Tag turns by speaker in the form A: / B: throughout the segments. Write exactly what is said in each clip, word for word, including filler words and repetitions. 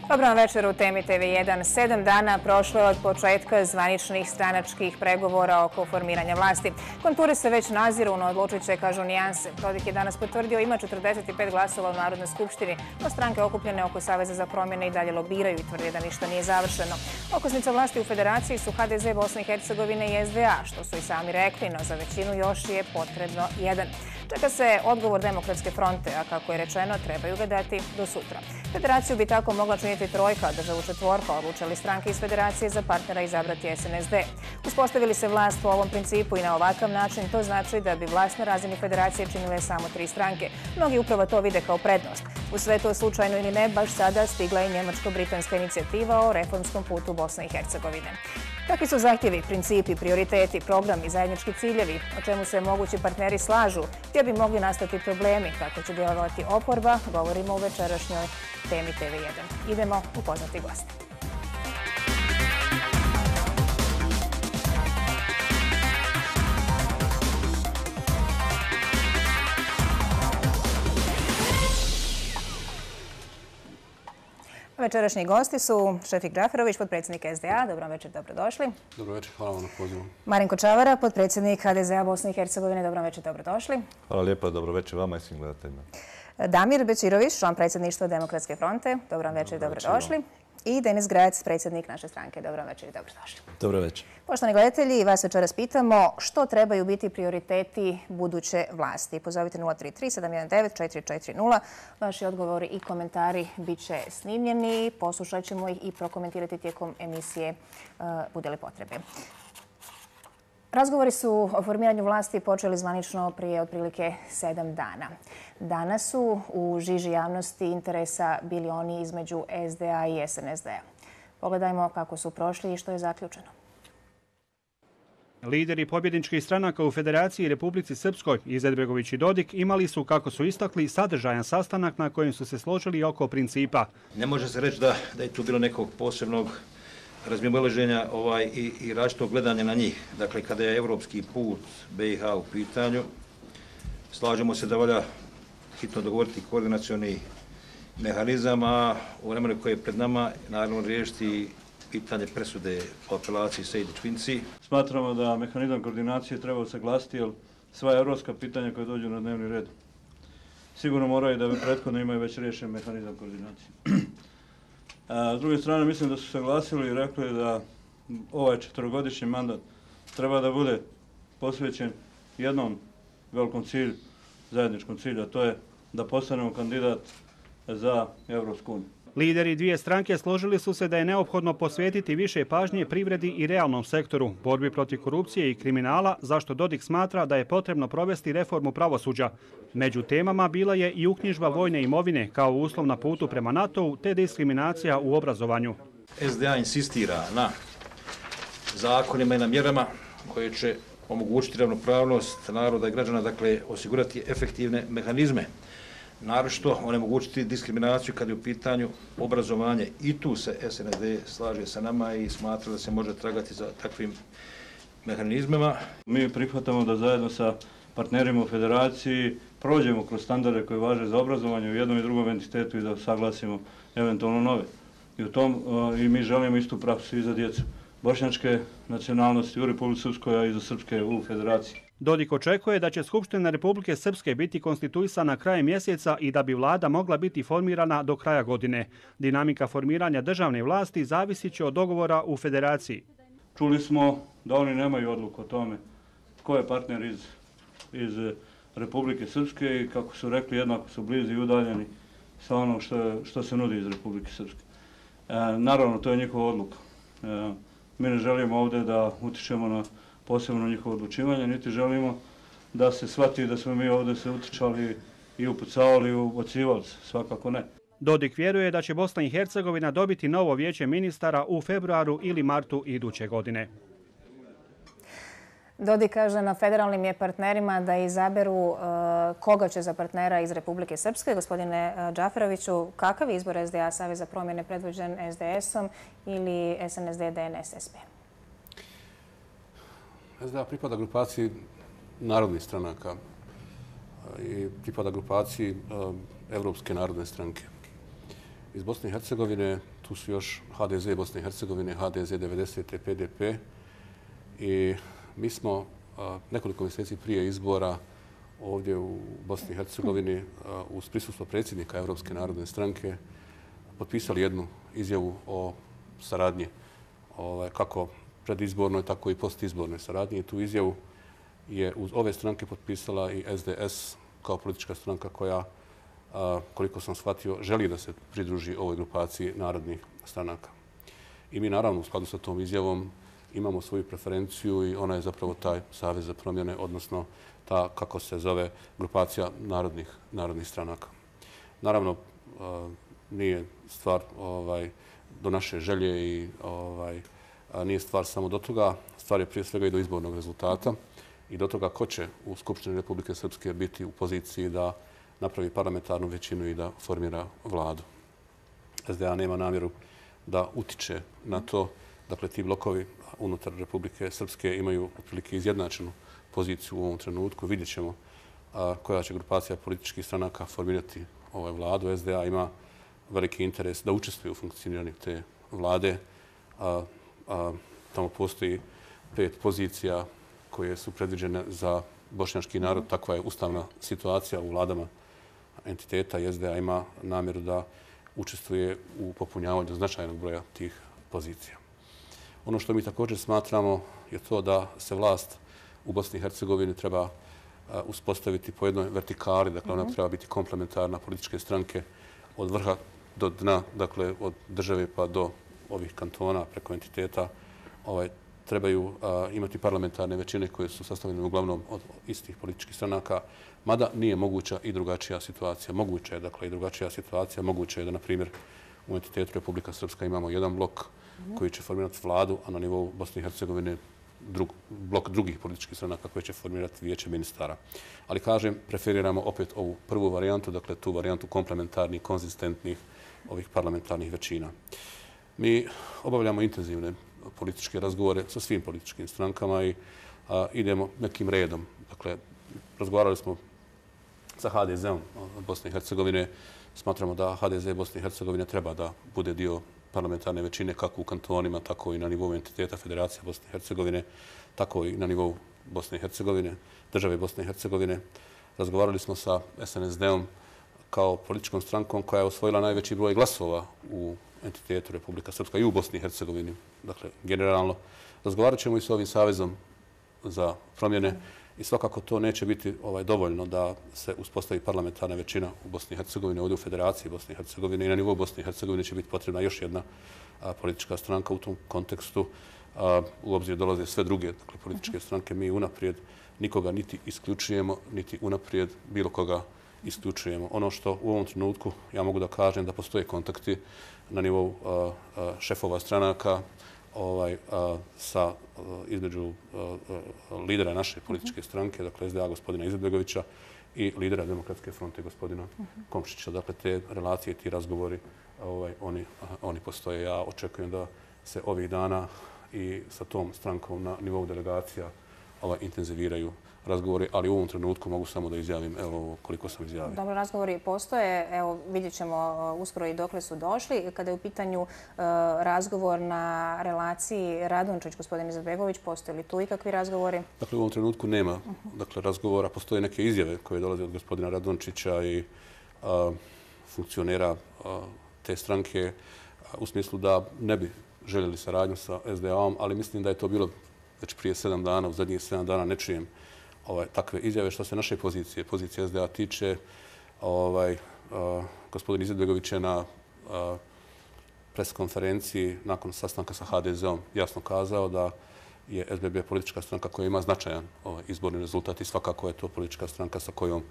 A: Dobro vam večer u Temi T V jedan. Sedam dana prošlo je od početka zvaničnih stranačkih pregovora oko formiranja vlasti. Konture se već naziru, no odlučit će, kažu, nijanse. Dodik je danas potvrdio ima četrdeset pet glasova u Narodnoj skupštini, no stranke okupljene oko Saveza za promjene i dalje lobiraju i tvrde da ništa nije završeno. Okosnica vlasti u federaciji su H D Z Bosne i Hercegovine i S D A, što su i sami rekli, no za većinu još je potrebno jedan. Čeka se odgovor Demokratske fronte, a kako je rečeno, trebaju ga dati do sutra. Federaciju bi tako mogla činiti trojka, državu četvorka, odlučili stranke iz federacije za partnera izabrati S N S D. Uspostavili se vlast po ovom principu i na ovakav način, to znači da bi vlast na razini federacije činile samo tri stranke. Mnogi upravo to vide kao prednost. U sve to, slučajno ili ne, baš sada stigla i njemačko-britanska inicijativa o reformskom putu Bosne i Hercegovine. Kakvi su zahtjevi, principi, prioriteti, programi i zajednički ciljevi, o čemu se mogući partneri slažu, gdje bi mogli nastati problemi, kako će djelovati oporba, govorimo u večerašnjoj Temi T V jedan. Idemo upoznati goste. Večerašnji gosti su Šefik Džaferović, potpredsjednik S D A. Dobro večer, dobrodošli.
B: Dobro večer, hvala vam na pozivu.
A: Marinko Čavara, potpredsjednik H D Z A Bosne i Hercegovine. Dobro večer, dobrodošli.
C: Hvala lijepa, dobro večer vama i svim gledateljima.
A: Damir Bečirović, član predsjedništva Demokratske fronte. Dobro večer, dobrodošli. I Denis Grajac, predsjednik naše stranke. Dobro večer i dobrodošli.
D: Dobro večer.
A: Poštovani gledatelji, vas večeras pitamo što trebaju biti prioriteti buduće vlasti. Pozovite nula tri tri sedam jedan devet četiri četiri nula. Vaši odgovori i komentari bit će snimljeni. Poslušat ćemo ih i prokomentirati tijekom emisije bude li potrebe. Razgovori su o formiranju vlasti počeli zvanično prije otprilike sedam dana. Danas su u žiži javnosti interesa bili oni između S D A i S N S D-a. Pogledajmo kako su prošli i što je zaključeno.
E: Lideri pobjedničkih stranaka u Federaciji Republici Srpskoj, Izetbegović i Dodik, imali su, kako su istakli, sadržajan sastanak na kojem su se složili oko principa.
D: Ne može se reći da, da je tu bilo nekog posebnog razmimoilaženja ovaj, i, i različitog gledanja na njih. Dakle, kada je evropski put B i H u pitanju, slažemo se da valja hitno dogovoriti koordinacioni mehanizam, a u vremenu koje je pred nama, naravno riješiti pitanje presude o apelaciji Sejdić-Finci.
F: Smatramo da mehanizam koordinacije treba usaglasiti, jer sva evropska pitanja koje dođu na dnevni red sigurno moraju da prethodno imaju već riješen mehanizam koordinacije. A, s druge strane, mislim da su saglasili i rekli da ovaj četvrogodišnji mandat treba da bude posvećen jednom velikom cilju, zajedničkom cilju, a to je da postanemo kandidat za Evropsku uniju.
E: Lideri dvije stranke složili su se da je neophodno posvetiti više pažnje privredi i realnom sektoru, borbi protiv korupcije i kriminala, zašto Dodik smatra da je potrebno provesti reformu pravosuđa. Među temama bila je i uknjižba vojne imovine kao uslov na putu prema NATO-u te diskriminacija u obrazovanju.
D: S D A insistira na zakonima i na mjerama koje će omogućiti ravnopravnost naroda i građana, dakle osigurati efektivne mehanizme. Naročito onemogućiti diskriminaciju kad je u pitanju obrazovanje. I tu se S N S D slaže sa nama i smatra da se može tragati za takvim mehanizmima.
F: Mi prihvatamo da zajedno sa partnerima u federaciji prođemo kroz standarde koje važe za obrazovanje u jednom i drugom entitetu i da saglasimo eventualno nove. I, u tom, i mi želimo istu praksu i za djecu bošnjačke nacionalnosti u Republici Srpskoj, a i za srpske u federaciji.
E: Dodik očekuje da će Skupština Republike Srpske biti konstituisana krajem mjeseca i da bi vlada mogla biti formirana do kraja godine. Dinamika formiranja državne vlasti zavisit će od dogovora u federaciji.
F: Čuli smo da oni nemaju odluku o tome ko je partner iz, iz Republike Srpske i kako su rekli jednako su blizu i udaljeni sa onom što, što se nudi iz Republike Srpske. E, naravno, to je njihova odluka. E, mi ne želimo ovdje da utičemo na posebno njihovo odlučivanje, niti želimo da se shvati da smo mi ovdje se utičali i upucavali i ubacivali se, svakako ne.
E: Dodik vjeruje da će Bosna i Hercegovina dobiti novo vijeće ministara u februaru ili martu iduće godine.
A: Dodik kaže na federalnim je partnerima da izaberu uh, koga će za partnera iz Republike Srpske. Gospodine uh, Džaferoviću, kakav je izbor S D A, Savez za promjene predvođen S D S-om ili S N S D, D N S, S P?
B: S D A pripada grupaciji narodnih stranaka i pripada grupaciji Evropske narodne stranke. Iz Bosne i Hercegovine tu su još H D Z Bosne i Hercegovine, H D Z devedesete, P D P. I mi smo nekoliko mjeseci prije izbora ovdje u Bosni i Hercegovini uz prisustvo predsjednika Europske narodne stranke potpisali jednu izjavu o saradnji, kako predizbornoj, tako i postizbornoj saradnji. I tu izjavu je uz ove stranke potpisala i S D S kao politička stranka koja, koliko sam shvatio, želi da se pridruži ovoj grupaciji narodnih stranaka. I mi naravno u skladu sa tom izjavom imamo svoju preferenciju i ona je zapravo taj Savez za promjene, odnosno ta, kako se zove, grupacija narodnih, narodnih stranaka. Naravno, nije stvar ovaj, do naše želje i ovaj, nije stvar samo do toga. Stvar je prije svega i do izbornog rezultata i do toga ko će u Skupštini Republike Srpske biti u poziciji da napravi parlamentarnu većinu i da formira vladu. S D A nema namjeru da utiče na to. Dakle, ti blokovi unutar Republike Srpske imaju otprilike izjednačenu poziciju u ovom trenutku. Vidjet ćemo koja će grupacija političkih stranaka formirati ovaj vladu. S D A ima veliki interes da učestvuje u funkcioniranju te vlade. A, a, tamo postoji pet pozicija koje su predviđene za bošnjački narod. Takva je ustavna situacija u vladama entiteta i S D A ima namjeru da učestvuje u popunjavanju značajnog broja tih pozicija. Ono što mi također smatramo je to da se vlast u Bosni i Hercegovini treba uspostaviti po jednoj vertikali, dakle ona treba biti komplementarna političke stranke od vrha do dna, dakle od države pa do ovih kantona preko entiteta, ovaj, trebaju a, imati parlamentarne većine koje su sastavljene uglavnom od istih političkih stranaka, mada nije moguća i drugačija situacija. Moguća je, dakle, i drugačija situacija. Moguće je da, na primjer, u entitetu Republika Srpska imamo jedan blok koji će formirati vladu, a na nivou Bosne i Hercegovine drug, blok drugih političkih stranaka koji će formirati vijeće ministara. Ali, kažem, preferiramo opet ovu prvu varijantu, dakle tu varijantu komplementarnih, konzistentnih ovih parlamentarnih većina. Mi obavljamo intenzivne političke razgovore sa svim političkim strankama i a, idemo nekim redom. Dakle, razgovarali smo sa H D Z-om Bosne i Hercegovine. Smatramo da H D Z Bosne i Hercegovine treba da bude dio parlamentarne većine kako u kantonima, tako i na nivou entiteta Federacije Bosne i Hercegovine, tako i na nivou Bosne i Hercegovine, države Bosne i Hercegovine. Razgovarali smo sa S N S D-om kao političkom strankom koja je osvojila najveći broj glasova u entitetu Republika Srpska i u Bosni i Hercegovini. Dakle, generalno, razgovarat ćemo i s ovim Savezom za promjene i svakako to neće biti ovaj, dovoljno da se uspostavi parlamentarna većina u Bosni i Hercegovini, ovdje u Federaciji Bosne i Hercegovine i na nivou Bosne i Hercegovine će biti potrebna još jedna a, politička stranka u tom kontekstu. A, u obzir dolaze sve druge dakle, političke stranke. Mi unaprijed nikoga niti isključujemo, niti unaprijed bilo koga isključujemo. Ono što u ovom trenutku ja mogu da kažem da postoje kontakti na nivou a, a, šefova stranaka ovaj, a, sa a, između a, a, lidera naše političke stranke, dakle S D A gospodina Izetbegovića i lidera Demokratske fronte gospodina Komšića. Dakle, te relacije, ti razgovori, ovaj, oni, a, oni postoje. Ja očekujem da se ovih dana i sa tom strankom na nivou delegacija ovaj, intenziviraju razgovori, ali u ovom trenutku mogu samo da izjavim evo koliko sam izjavio.
A: Dobro, razgovori postoje. Evo, vidjet ćemo uskoro i dokle su došli. Kada je u pitanju uh, razgovor na relaciji Radončić, gospodin Izetbegović, postoje li tu ikakvi razgovori? Dakle,
B: u ovom trenutku nema dakle, razgovora. Postoje neke izjave koje dolaze od gospodina Radončića i uh, funkcionera uh, te stranke uh, u smislu da ne bi željeli saradnju sa S D A-om, ali mislim da je to bilo već prije sedam dana, u zadnjih sedam dana ne čujem ovaj, takve izjave. Što se naše pozicije, pozicije S D A tiče, ovaj, uh, gospodin Izetbegović je na uh, preskonferenciji nakon sastanka sa H D Z-om jasno kazao da je S B B politička stranka koja ima značajan ovaj, izborni rezultat i svakako je to politička stranka sa kojom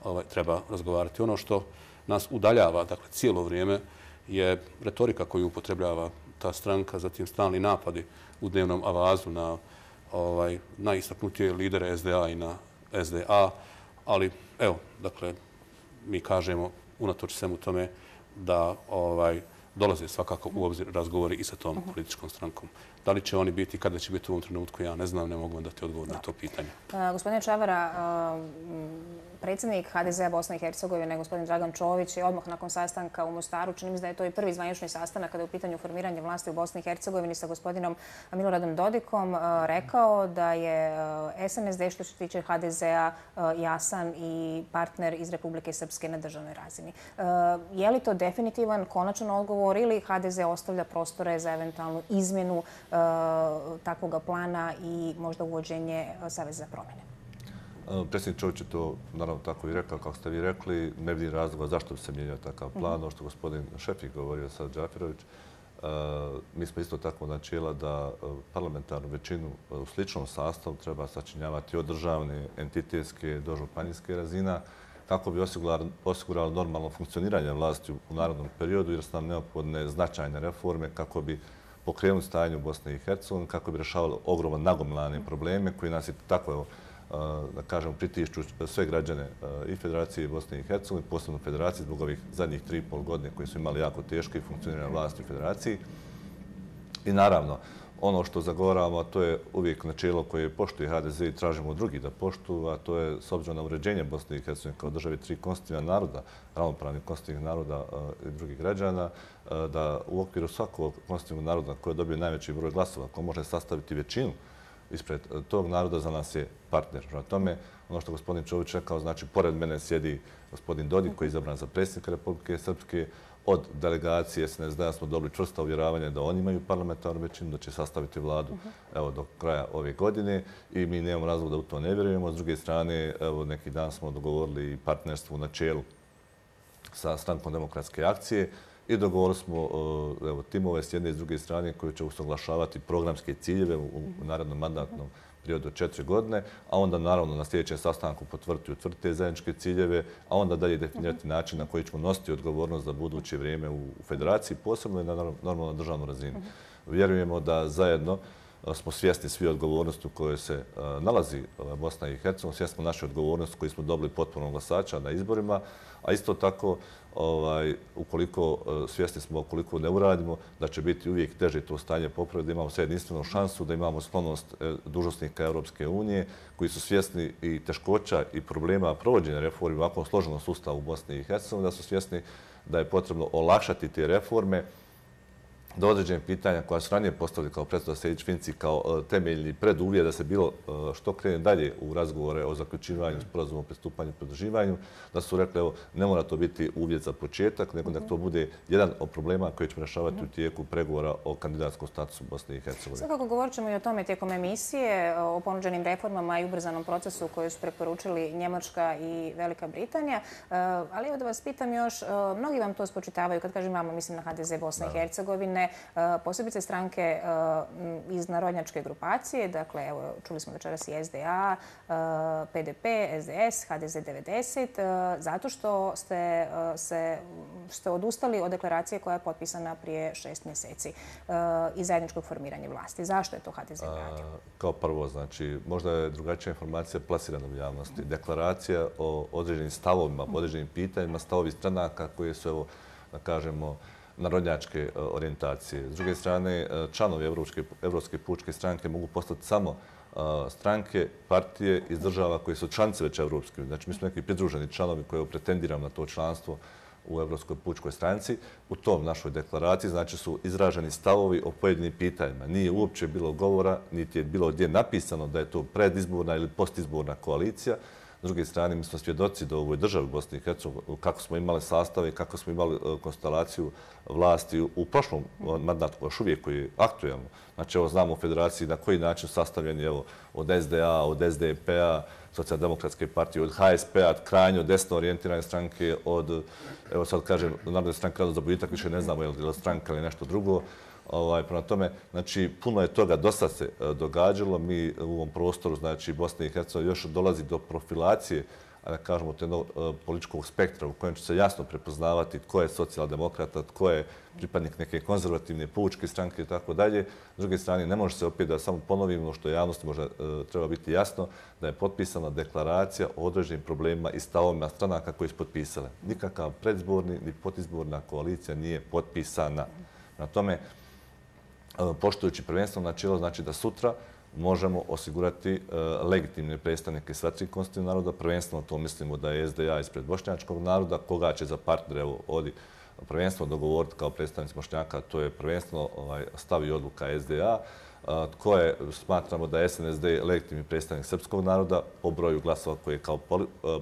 B: ovaj, treba razgovarati. Ono što nas udaljava, dakle, cijelo vrijeme je retorika koju upotrebljava ta stranka, zatim stalni napadi u dnevnom avazu na ovaj, najistaknutije lidere S D A i na S D A, ali evo, dakle, mi kažemo unatoč svemu tome da ovaj, dolaze svakako u obzir razgovori i sa tom političkom strankom. Da li će oni biti, kada će biti u ovom trenutku, ja ne znam, ne mogu vam dati odgovor na to pitanje.
A: Gospodine Čavara, predsjednik H D Z-a Bosne i Hercegovine, gospodin Dragan Čović, je odmah nakon sastanka u Mostaru, čini mi se da je to i prvi zvanični sastanak kada je u pitanju formiranje vlasti u Bosni i Hercegovini sa gospodinom Miloradom Dodikom, rekao da je S N S D što se tiče H D Z-a jasan i partner iz Republike Srpske na državnoj razini. Je li to definitivan, konačan odgovor ili H D Z ostavlja prostore za eventualnu izmjenu takvog plana i možda uvođenje Saveza za promjene?
C: Predsjednik Čović je to naravno tako i rekao, kako ste vi rekli, ne vidim razloga zašto bi se mijenjao takav plan. Ono što gospodin Šefik govorio sad, Džafirović, mi smo isto tako načela da parlamentarnu većinu u sličnom sastavu treba sačinjavati od državne, entitetske do županijske razina, kako bi osigurali normalno funkcioniranje vlasti u narodnom periodu, jer su nam neophodne značajne reforme kako bi pokrenuli stanje u Bosni i Hercegovini, kako bi rješavali ogroman nagomilane probleme koji nas i tako, da kažem, pritišću sve građane i Federacije Bosne i Hercegovine, posebno Federacije, zbog ovih zadnjih tri i pol godine koji su imali jako teške i funkcionirane vlasti u Federaciji. I naravno, ono što zagovaramo, to je uvijek načelo koje poštuje H D Z i tražimo od drugih da poštuju, a to je s obzirom na uređenje Bosne i Hercegovine kao države tri konstitutivna naroda, ravnopravnih konstitutivnih naroda i drugih građana, da u okviru svakog konstitutivnog naroda koji dobije najveći broj glasova, ko može sastaviti većinu ispred tog naroda, za nas je partner. Na tome, ono što gospodin Čović rekao, znači, pored mene sjedi gospodin Dodik koji je izabran za predsjednika Republike Srpske. Od delegacije S N S D-a smo dobili čvrsta uvjeravanja da oni imaju parlamentarnu većinu, da će sastaviti vladu evo, do kraja ove godine i mi nemamo razloga da u to ne vjerujemo. S druge strane, evo, neki dan smo dogovorili partnerstvo u načelu sa Strankom demokratske akcije i dogovorili smo evo, timove s jedne i s druge strane koji će usaglašavati programske ciljeve u, u narednom mandatnom periodu od četiri godine, a onda naravno na sljedećem sastanku potvrditi i utvrditi te zajedničke ciljeve, a onda dalje definirati način na koji ćemo nositi odgovornost za buduće vrijeme u Federaciji, posebno i na normalno državnu razinu. Vjerujemo da zajedno smo svjesni svi odgovornosti u kojoj se nalazi Bosna i Hercegovina, svjesni smo naše odgovornosti koju smo dobili potpunom glasača na izborima, a isto tako ovaj, ukoliko svjesni smo koliko ne uradimo, da će biti uvijek teže to stanje popraviti, da imamo sve jedinstvenu šansu, da imamo sklonost dužnosnika Europske unije koji su svjesni i teškoća i problema provođenja reformi u ovakvom složenom sustavu u Bosni i Hercegovini, da su svjesni da je potrebno olakšati te reforme, do određenih pitanja koja su ranije postavili kao predsjednik Sejdić-Finci kao temeljni preduvjet da se bilo što krene dalje u razgovore o zaključivanju sporazuma o pristupanju i pridruživanju, da su rekli evo ne mora to biti uvjet za početak, nego da to bude jedan od problema koji ćemo rješavati u tijeku pregovora o kandidatskom statusu Bosne i Hercegovine.
A: Svakako govorit ćemo i o tome tijekom emisije, o ponuđenim reformama i ubrzanom procesu koju su preporučili Njemačka i Velika Britanija. Ali evo da vas pitam još, mnogi vam to spočitavaju, kad kažem vama, mislim na H D Z Bosne i Hercegovine, posebice stranke iz narodnjačke grupacije, dakle, evo, čuli smo večeras i S D A, P D P, S D S, H D Z devedeset, zato što ste, se, ste odustali od deklaracije koja je potpisana prije šest mjeseci i zajedničkog formiranja vlasti. Zašto je to H D Z radio?
C: Kao prvo, znači, možda je drugačija informacija plasirana u javnosti. Deklaracija o određenim stavovima, o određenim pitanjima, stavovi stranaka koje su, evo, da kažemo, narodnjačke orijentacije. S druge strane, članovi Evropske pučke stranke mogu postati samo stranke, partije iz država koje su članice već Evropske. Znači, mi smo neki pridruženi članovi koji pretendiramo na to članstvo u Evropskoj pučkoj stranci. U tom našoj deklaraciji znači su izraženi stavovi o pojedinim pitanjima. Nije uopće bilo govora, niti je bilo gdje napisano da je to predizborna ili postizborna koalicija. S druge strane, mi smo svjedoci da u ovoj državi Bosni i Hercegovini, kako smo imali sastave, kako smo imali konstelaciju vlasti u prošlom mandatu, još uvijek koji je aktuelno. Znači, evo, znamo u Federaciji na koji način sastavljeni, evo, od S D A, od S D P-a, Socijaldemokratske partije, od H S P-a, krajnjo desno orijentirane stranke, od, evo sad kažem, Narodne stranke Rado za boljitak, više ne znamo je li stranka ili nešto drugo. Ovaj, prema tome, znači, puno je toga, dosta se događalo. Mi u ovom prostoru, znači, Bosne i Hercegovine još dolazi do profilacije, da kažemo, jednog političkog spektra u kojem će se jasno prepoznavati tko je socijaldemokrata, tko je pripadnik neke konzervativne pučke stranke i tako dalje. S druge strane, ne može se opet da samo ponovimo što javnosti možda treba biti jasno, da je potpisana deklaracija o određenim problemima i stavovima stranaka koji su potpisale. Nikakav predizborni ni postizborna koalicija nije potpisana. Na tome, poštujući prvenstveno načelo, znači da sutra možemo osigurati legitimne predstavnike sva tri konstitutivna naroda. Prvenstveno to mislimo da je S D A ispred bošnjačkog naroda, koga će za partnere, evo ovdje, prvenstveno dogovoriti kao predstavnici Bošnjaka, to je prvenstveno stav i odluka S D A, koje smatramo da je S N S D legitimni predstavnik srpskog naroda po broju glasova koji je kao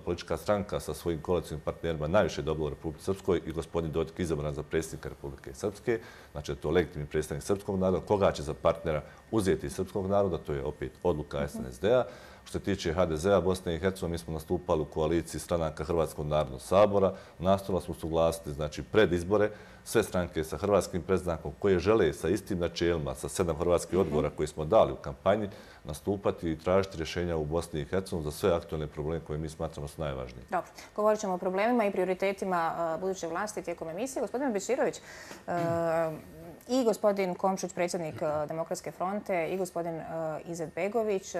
C: politička stranka sa svojim koalicijnim partnerima najviše dobila u Republike Srpskoj i gospodin Dodik izabran za predsjednika Republike Srpske. Znači, to je legitimni predstavnik srpskog naroda. Koga će za partnera uzeti iz srpskog naroda, to je opet odluka S N S D-a. Što se tiče H D Z-a Bosne i Hercegovine, mi smo nastupali u koaliciji stranaka Hrvatskog narodnog sabora. Nastojali smo suglasiti, znači, pred izbore sve stranke sa hrvatskim predznakom koje žele sa istim načelima, sa sedam hrvatskih odgovora koje smo dali u kampanji, nastupati i tražiti rješenja u Bosni i Hercegovini za sve aktualne probleme koje mi smatramo su najvažniji.
A: Dobro, govorit ćemo o problemima i prioritetima buduće vlasti tijekom emisije. Gospodin Beširović i gospodin Komšić, predsjednik Demokratske fronte, i gospodin Izetbegović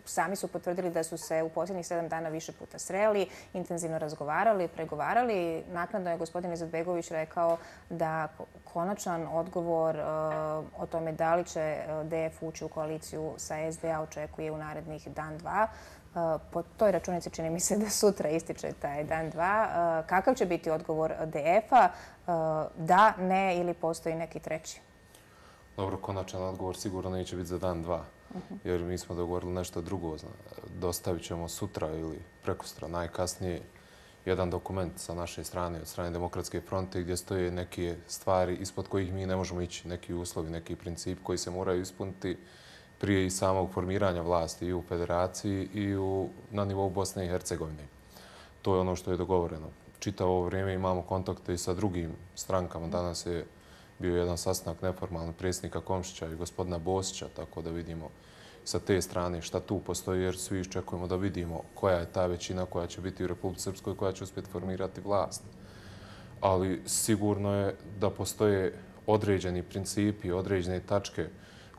A: sami su potvrdili da su se u posljednjih sedam dana više puta sreli, intenzivno razgovarali, pregovarali. Naknadno je gospodin Izetbegović rekao da konačan odgovor o tome da li će D F ući u koaliciju sa S D A očekuje u narednih dan, dva. Po toj računici čini mi se da sutra ističe taj dan, dva. Kakav će biti odgovor D F-a? Da, ne ili postoji neki treći?
G: Dobro, konačan odgovor sigurno neće biti za dan, dva. Jer mi smo dogovorili nešto drugo. Dostavit ćemo sutra ili prekosutra najkasnije jedan dokument sa naše strane, od strane Demokratske fronte, gdje stoje neke stvari ispod kojih mi ne možemo ići, neki uslovi, neki princip koji se moraju ispuniti prije i samog formiranja vlasti i u federaciji i u, na nivou Bosne i Hercegovine. To je ono što je dogovoreno. Čitavo ovo vrijeme imamo kontakte i sa drugim strankama. Danas je bio jedan sastanak neformalni predsjednika Komšića i gospodina Bosića, tako da vidimo sa te strane šta tu postoji, jer svi iščekujemo da vidimo koja je ta većina koja će biti u Republici Srpskoj, koja će uspjeti formirati vlast. Ali sigurno je da postoje određeni principi, određene tačke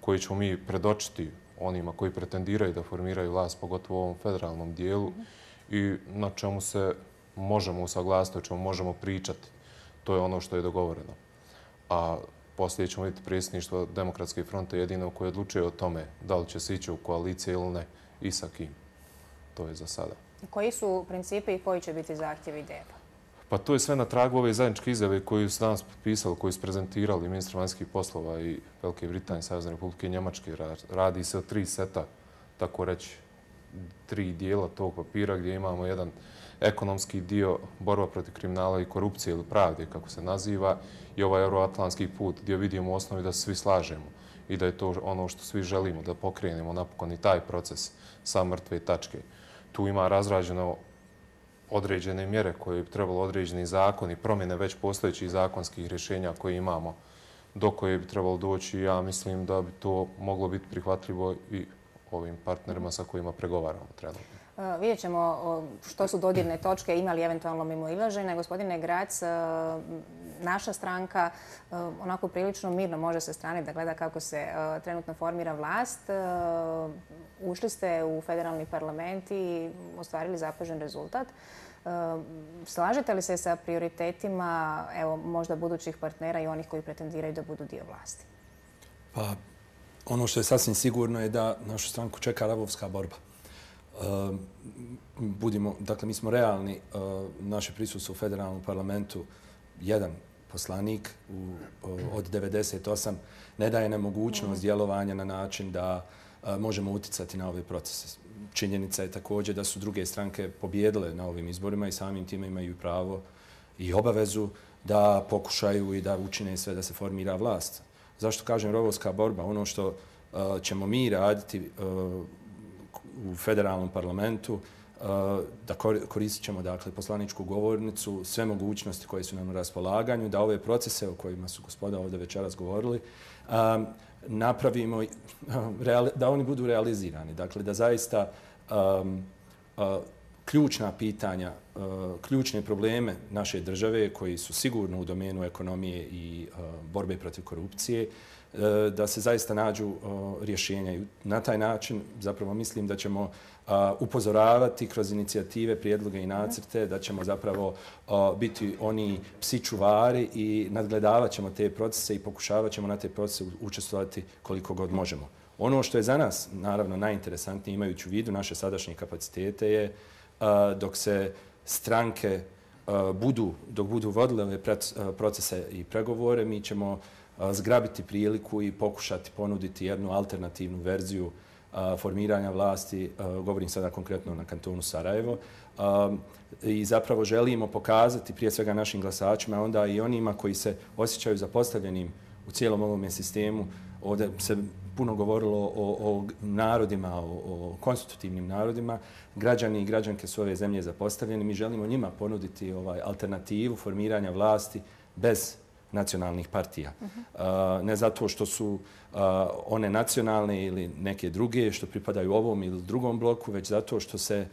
G: koje ćemo mi predočiti onima koji pretendiraju da formiraju vlast, pogotovo u ovom federalnom dijelu, i na čemu se možemo usaglasiti, o čemu možemo pričati. To je ono što je dogovoreno. A poslije ćemo vidjeti predsjedništvo Demokratske fronte jedino koje odlučuje o tome da li će se ići u koalicije ili ne i sa kim. To je za sada.
A: Koji su principi i koji će biti zahtjevi D F-a?
G: Pa to je sve na tragu ove zajedničke izjave koju su danas potpisali, koju su prezentirali ministar vanjskih poslova i Velike Britanije, Savezne Republike i Njemačke. Radi se o tri seta, tako reći, tri dijela tog papira gdje imamo jedan ekonomski dio, borba protiv kriminala i korupcije ili pravde, kako se naziva, i ovaj euroatlantski put gdje vidimo u osnovi da se svi slažemo i da je to ono što svi želimo, da pokrenemo napokon i taj proces sa mrtve tačke. Tu ima razrađeno određene mjere koje bi trebalo, određeni zakoni, promjene već postojećih zakonskih rješenja koje imamo, do koje bi trebalo doći. Ja mislim da bi to moglo biti prihvatljivo i ovim partnerima sa kojima pregovaramo trenutno.
A: Vidjet ćemo što su dodirne točke, imali eventualno mimoilaženja. Gospodine Grac, naša stranka onako prilično mirno može se strane da gleda kako se trenutno formira vlast. Ušli ste u federalni parlament i ostvarili zapažen rezultat. Slažete li se sa prioritetima, evo, možda budućih partnera i onih koji pretendiraju da budu dio vlasti?
H: Pa, ono što je sasvim sigurno je da našu stranku čeka ravovska borba. Budimo, dakle, mi smo realni, naše prisustvo u federalnom parlamentu, jedan poslanik u, od devedeset osam ne daje nemogućnost djelovanja na način da možemo uticati na ove procese. Činjenica je također da su druge stranke pobjedile na ovim izborima i samim time imaju pravo i obavezu da pokušaju i da učine sve da se formira vlast. Zašto kažem rovovska borba? Ono što ćemo mi raditi u federalnom parlamentu, da koristit ćemo, dakle, poslaničku govornicu, sve mogućnosti koje su nam na raspolaganju, da ove procese o kojima su gospoda ovdje večeras govorili, napravimo, da oni budu realizirani. Dakle, da zaista ključna pitanja, ključne probleme naše države, koji su sigurno u domenu ekonomije i borbe protiv korupcije, da se zaista nađu rješenja. I na taj način zapravo mislim da ćemo upozoravati kroz inicijative, prijedloge i nacrte, da ćemo zapravo biti oni psi čuvari i nadgledavat ćemo te procese i pokušavat ćemo na te procese učestvovati koliko god možemo. Ono što je za nas, naravno, najinteresantnije imajući u vidu naše sadašnje kapacitete je dok se stranke budu, dok budu vodile ove procese i pregovore, mi ćemo zgrabiti priliku i pokušati ponuditi jednu alternativnu verziju formiranja vlasti, govorim sada konkretno na kantonu Sarajevo, i zapravo želimo pokazati prije svega našim glasačima, a onda i onima koji se osjećaju zapostavljenim u cijelom ovom sistemu. Ovdje se puno govorilo o, o narodima, o, o konstitutivnim narodima. Građani i građanke su ove zemlje zapostavljeni. Mi želimo njima ponuditi ovaj alternativu formiranja vlasti bez nacionalnih partija. Uh-huh. Ne zato što su one nacionalne ili neke druge, što pripadaju ovom ili drugom bloku, već zato što se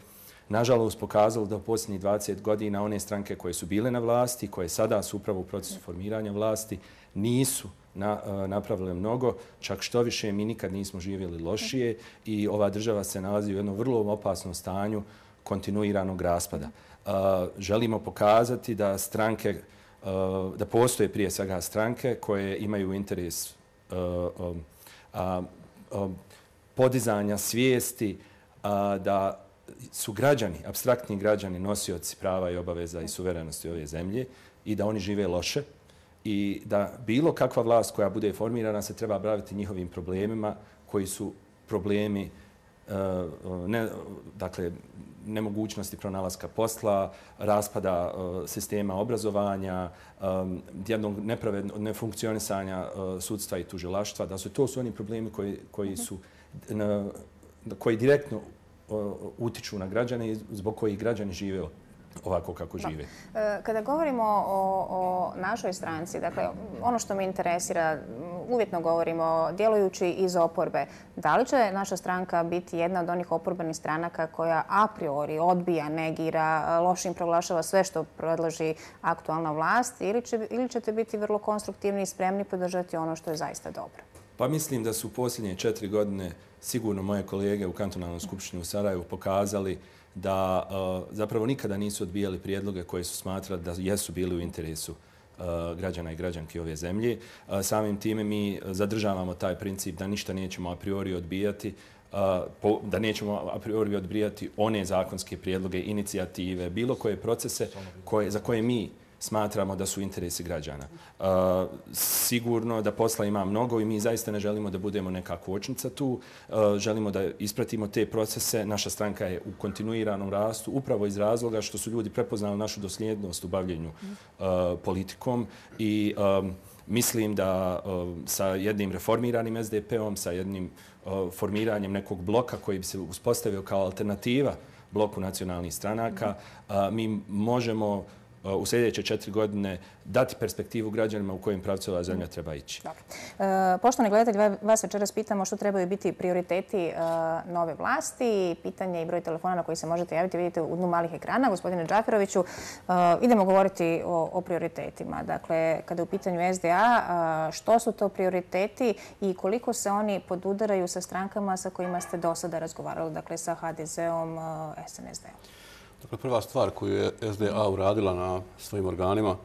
H: nažalost pokazalo da u posljednjih dvadeset godina one stranke koje su bile na vlasti, koje sada su upravo u procesu formiranja vlasti, nisu na, napravile mnogo, čak što više mi nikad nismo živjeli lošije i ova država se nalazi u jednom vrlo opasnom stanju kontinuiranog raspada. Uh, želimo pokazati da stranke, uh, da postoje prije svega stranke koje imaju interes uh, um, uh, um, podizanja svijesti uh, da su građani, apstraktni građani, nosioci prava i obaveza i suverenosti ove zemlje i da oni žive loše i da bilo kakva vlast koja bude formirana se treba baviti njihovim problemima koji su problemi ne, dakle, nemogućnosti pronalaska posla, raspada sistema obrazovanja, jednog nepravednog nefunkcionisanja sudstva i tužilaštva, da su to su oni problemi koji, koji su koji direktno utiču na građane i zbog kojih građani žive ovako kako žive.
A: Kada govorimo o, o našoj stranci, dakle, ono što me interesira, uvjetno govorimo, djelujući iz oporbe, da li će naša stranka biti jedna od onih oporbenih stranaka koja a priori odbija, negira, lošim proglašava sve što predloži aktualna vlast ili, će, ili ćete biti vrlo konstruktivni i spremni podržati ono što je zaista dobro?
H: Pa mislim da su u posljednje četiri godine sigurno moje kolege u kantonalnoj skupštini u Sarajevu pokazali da uh, zapravo nikada nisu odbijali prijedloge koje su smatrali da jesu bili u interesu uh, građana i građanki ove zemlje. Uh, samim time mi zadržavamo taj princip da ništa nećemo a priori odbijati, uh, po, da nećemo a priori odbijati one zakonske prijedloge, inicijative, bilo koje procese koje, za koje mi smatramo da su interesi građana. Uh, sigurno da posla ima mnogo i mi zaista ne želimo da budemo neka kočnica tu. Uh, želimo da ispratimo te procese. Naša stranka je u kontinuiranom rastu upravo iz razloga što su ljudi prepoznali našu dosljednost u bavljenju uh, politikom i um, mislim da uh, sa jednim reformiranim es de pe om, sa jednim uh, formiranjem nekog bloka koji bi se uspostavio kao alternativa bloku nacionalnih stranaka, uh, mi možemo u sljedeće četiri godine dati perspektivu građanima u kojim pravcu ova zemlja treba ići.
A: Dobro. E, poštovani gledatelji, vas večeras pitamo što trebaju biti prioriteti e, nove vlasti. Pitanje i broj telefona na koji se možete javiti vidite u dnu malih ekrana. Gospodine Džaferoviću, e, idemo govoriti o, o prioritetima. Dakle, kada je u pitanju es de a, što su to prioriteti i koliko se oni podudaraju sa strankama sa kojima ste do sada razgovarali, dakle sa ha de zeom, es en es de om?
B: Dakle, prva stvar koju je es de a uradila na svojim organima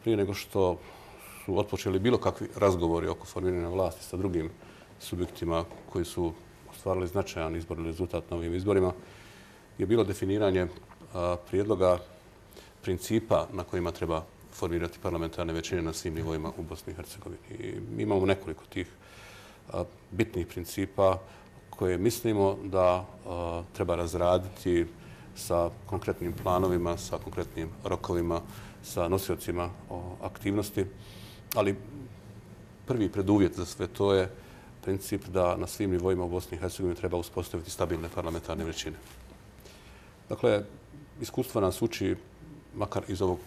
B: prije nego što su otpočeli bilo kakvi razgovori oko formiranja vlasti sa drugim subjektima koji su ostvarili značajan izborni rezultat na ovim izborima je bilo definiranje prijedloga principa na kojima treba formirati parlamentarne većine na svim nivoima u Bosni i Hercegovini. I mi imamo nekoliko tih bitnih principa koje mislimo da treba razraditi sa konkretnim planovima, sa konkretnim rokovima, sa nosiocima aktivnosti. Ali prvi preduvjet za sve to je princip da na svim nivoima u Bosni i Hercegovini treba uspostaviti stabilne parlamentarne većine. Dakle, iskustvo nas uči, makar iz ovog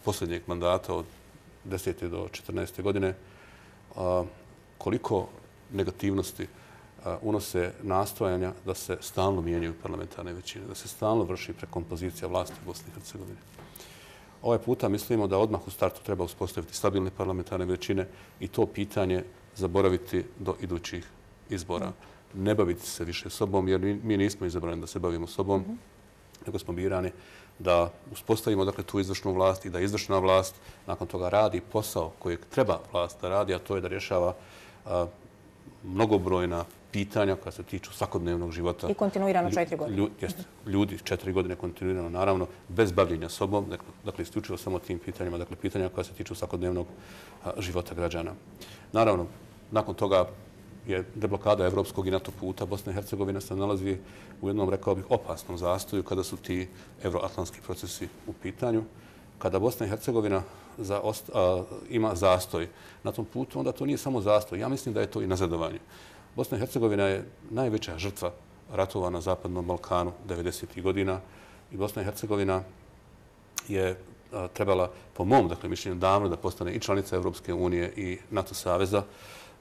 B: posljednjeg mandata od desete do četrnaeste godine, koliko negativnosti unose nastojanja da se stalno mijenjaju parlamentarne većine, da se stalno vrši prekompozicija vlasti u Bosni i Hercegovini. Ovaj puta mislimo da odmah u startu treba uspostaviti stabilne parlamentarne većine i to pitanje zaboraviti do idućih izbora. Ne baviti se više sobom, jer mi nismo izabrani da se bavimo sobom, nego smo birani da uspostavimo dakle, tu izvršnu vlast i da izvršna vlast nakon toga radi posao kojeg treba vlast da radi, a to je da rješava a, mnogobrojna pitanja koja se tiču svakodnevnog života.
A: I kontinuirano četiri godine.
B: Ljudi, jest, ljudi četiri godine kontinuirano, naravno, bez bavljenja sobom, dakle, isključivo samo tim pitanjima, dakle, pitanja koja se tiču svakodnevnog a, života građana. Naravno, nakon toga je deblokada evropskog i NATO puta. Bosna i Hercegovina se nalazi u jednom, rekao bih, opasnom zastoju kada su ti euroatlantski procesi u pitanju. Kada Bosna i Hercegovina za ost, a, ima zastoj na tom putu, onda to nije samo zastoj. Ja mislim da je to i nazadovanje. Bosna i Hercegovina je najveća žrtva ratova na Zapadnom Balkanu devedesetih godina i Bosna i Hercegovina je a, trebala, po mom dakle, mišljenju, davno da postane i članica Evropske unije i NATO saveza.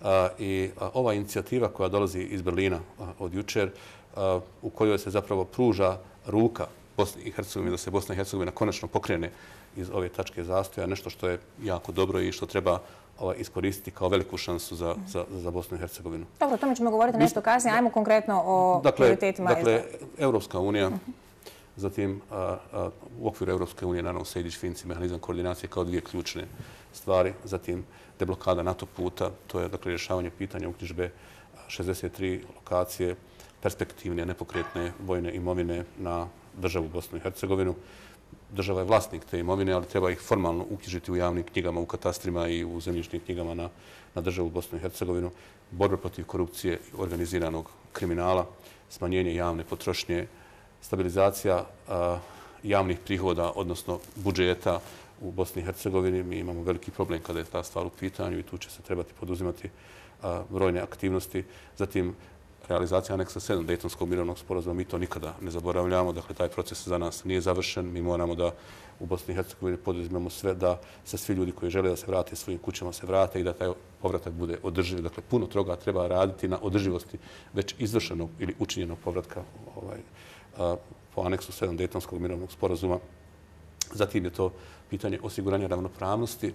B: A, I a, ova inicijativa koja dolazi iz Berlina a, od jučer, a, u kojoj se zapravo pruža ruka Bosni i Hercegovini, da se Bosna i Hercegovina konačno pokrene iz ove tačke zastoja, nešto što je jako dobro i što treba ovaj, iskoristiti kao veliku šansu za, za, za Bosnu i Hercegovinu.
A: Dobro, o tome ćemo govoriti nešto kasnije. Ajmo konkretno o
B: dakle,
A: prioritetima.
B: Dakle, Evropska unija, zatim a, a, u okviru Evropske unije, naravno, Sejdić-Finci, mehanizam koordinacije kao dvije ključne stvari. Zatim, deblokada NATO puta, to je dakle, rješavanje pitanja uknjižbe šezdeset tri lokacije perspektivne, nepokretne vojne imovine na državu Bosnu i Hercegovinu. Država je vlasnik te imovine, ali treba ih formalno uknjižiti u javnim knjigama, u katastrima i u zemljišnim knjigama na, na državu Bosnu i Hercegovinu. Borba protiv korupcije i organiziranog kriminala, smanjenje javne potrošnje, stabilizacija a, javnih prihoda, odnosno budžeta u Bosni i Hercegovini. Mi imamo veliki problem kada je ta stvar u pitanju i tu će se trebati poduzimati a, brojne aktivnosti. Zatim, realizacija aneksa sedam Dejtonskog mirovnog sporazuma, mi to nikada ne zaboravljamo. Dakle, taj proces za nas nije završen. Mi moramo da u Bosni i Hercegovini poduzmemo sve da se svi ljudi koji žele da se vrate svojim kućama se vrate i da taj povratak bude održiv. Dakle, puno toga treba raditi na održivosti već izvršenog ili učinjenog povratka ovaj, a, po aneksu sedam Dejtonskog mirovnog sporazuma. Zatim je to pitanje osiguranja ravnopravnosti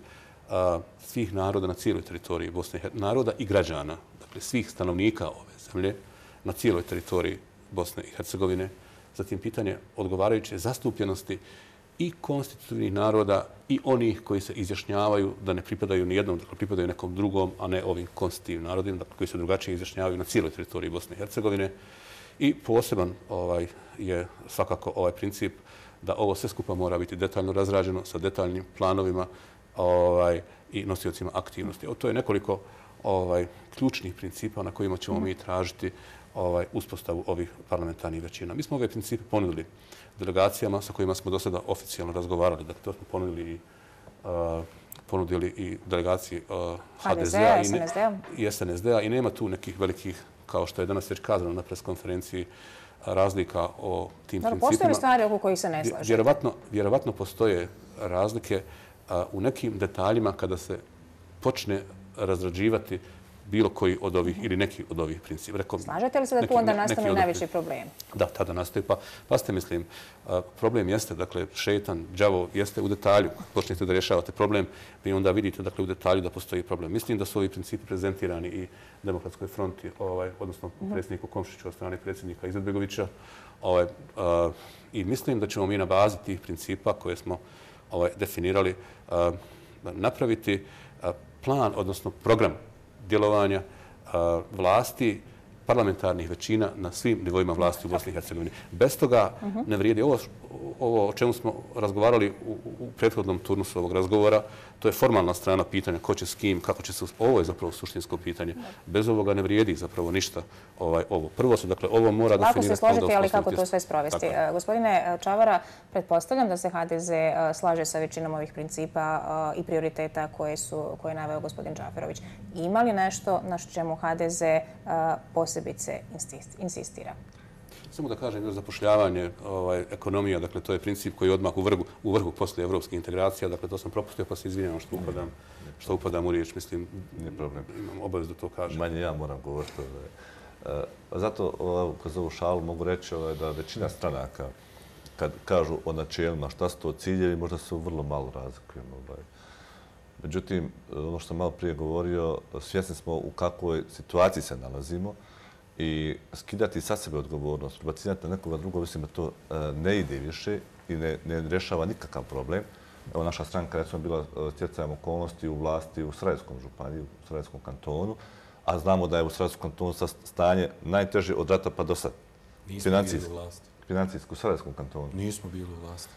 B: a, svih naroda na cijeloj teritoriji Bosne i Hercegovine, naroda i građana, dakle svih stanovnika ove zemlje na cijeloj teritoriji Bosne i Hercegovine. Zatim pitanje odgovarajuće zastupljenosti i konstitutivnih naroda i onih koji se izjašnjavaju da ne pripadaju ni jednom, dakle pripadaju nekom drugom, a ne ovim konstitutivnim narodima, dakle koji se drugačije izjašnjavaju na cijeloj teritoriji Bosne i Hercegovine. I poseban ovaj, je svakako ovaj princip da ovo sve skupa mora biti detaljno razrađeno sa detaljnim planovima ovaj, i nosiocima aktivnosti. O, to je nekoliko ovaj, ključnih principa na kojima ćemo mi tražiti ovaj, uspostavu ovih parlamentarnih većina. Mi smo ove principe ponudili delegacijama sa kojima smo do sada oficijalno razgovarali. Dakle, to smo ponudili i, uh, ponudili i delegaciji uh, ha de zea i S N S D-a i nema tu nekih velikih, kao što je danas već kazano na preskonferenciji, razlika o tim
A: Dobro,
B: principima.
A: postoje li stvari oko kojih se ne slažete?
B: Vjerovatno, vjerovatno postoje razlike a, u nekim detaljima kada se počne razrađivati bilo koji od ovih ili neki od ovih principa. Rekao,
A: slažete li se da tu onda nastane najveći problem?
B: Da, tada nastaje. Pa, pa ste, mislim, a, problem jeste, dakle, šetan, đavo jeste u detalju. Počnete da rješavate problem, vi onda vidite, dakle, u detalju da postoji problem. Mislim da su ovi principi prezentirani i Demokratskoj fronti, ovaj, odnosno uh-huh. predsjedniku Komšiću od strane predsjednika Izetbegovića. Ovaj, a, I mislim da ćemo mi na bazi tih principa koje smo ovaj, definirali a, napraviti a, plan, odnosno program djelovanja a, vlasti, parlamentarnih većina na svim nivoima vlasti u Bosni i Hercegovini. Bez toga ne vrijedi. Ovo, ovo o čemu smo razgovarali u, u prethodnom turnusu ovog razgovora, to je formalna strana pitanja ko će s kim, kako će se... Ovo je zapravo suštinsko pitanje. Bez ovoga ne vrijedi zapravo ništa ovaj, ovo. Prvo se, dakle, ovo mora
A: da
B: definirati...
A: Kako se složiti, ali kako to sve sprovesti? Uh, gospodine Čavara, pretpostavljam da se ha de ze uh, slaže sa većinom ovih principa uh, i prioriteta koje, su, koje je naveo gospodin Džaferović. Ima li nešto na čemu ha de ze uh, posebice insistira?
B: Samo da kažem, još zapošljavanje, ovaj, ekonomija, dakle, to je princip koji je odmah u vrhu, u vrhu poslije evropskih integracija. Dakle, to sam propustio, pa se izvinjam što upadam, što upadam u riječ. Mislim,
C: nije problem.
B: Imam obavez da to kažem.
C: Manje ja moram govoriti. Ovaj. Zato, ovaj, kroz ovu šalu mogu reći ovaj, da većina stranaka, kad kažu o načelima šta su to ciljevi, možda se vrlo malo razlikujemo. Ovaj. Međutim, ono što sam malo prije govorio, svjesni smo u kakvoj situaciji se nalazimo i skidati sa sebe odgovornost, prebacivati na nekoga drugo, mislim da to ne ide više i ne, ne rješava nikakav problem. Evo, naša stranka, recimo, bila stjecajem okolnosti u vlasti u Sarajevskom županiji, u Sarajevskom kantonu, a znamo da je u Sarajevskom kantonu stanje najteže od rata pa do sad.
H: Nismo bili u vlasti.
C: Financijski u Sarajevskom kantonu.
H: Nismo bili u vlasti.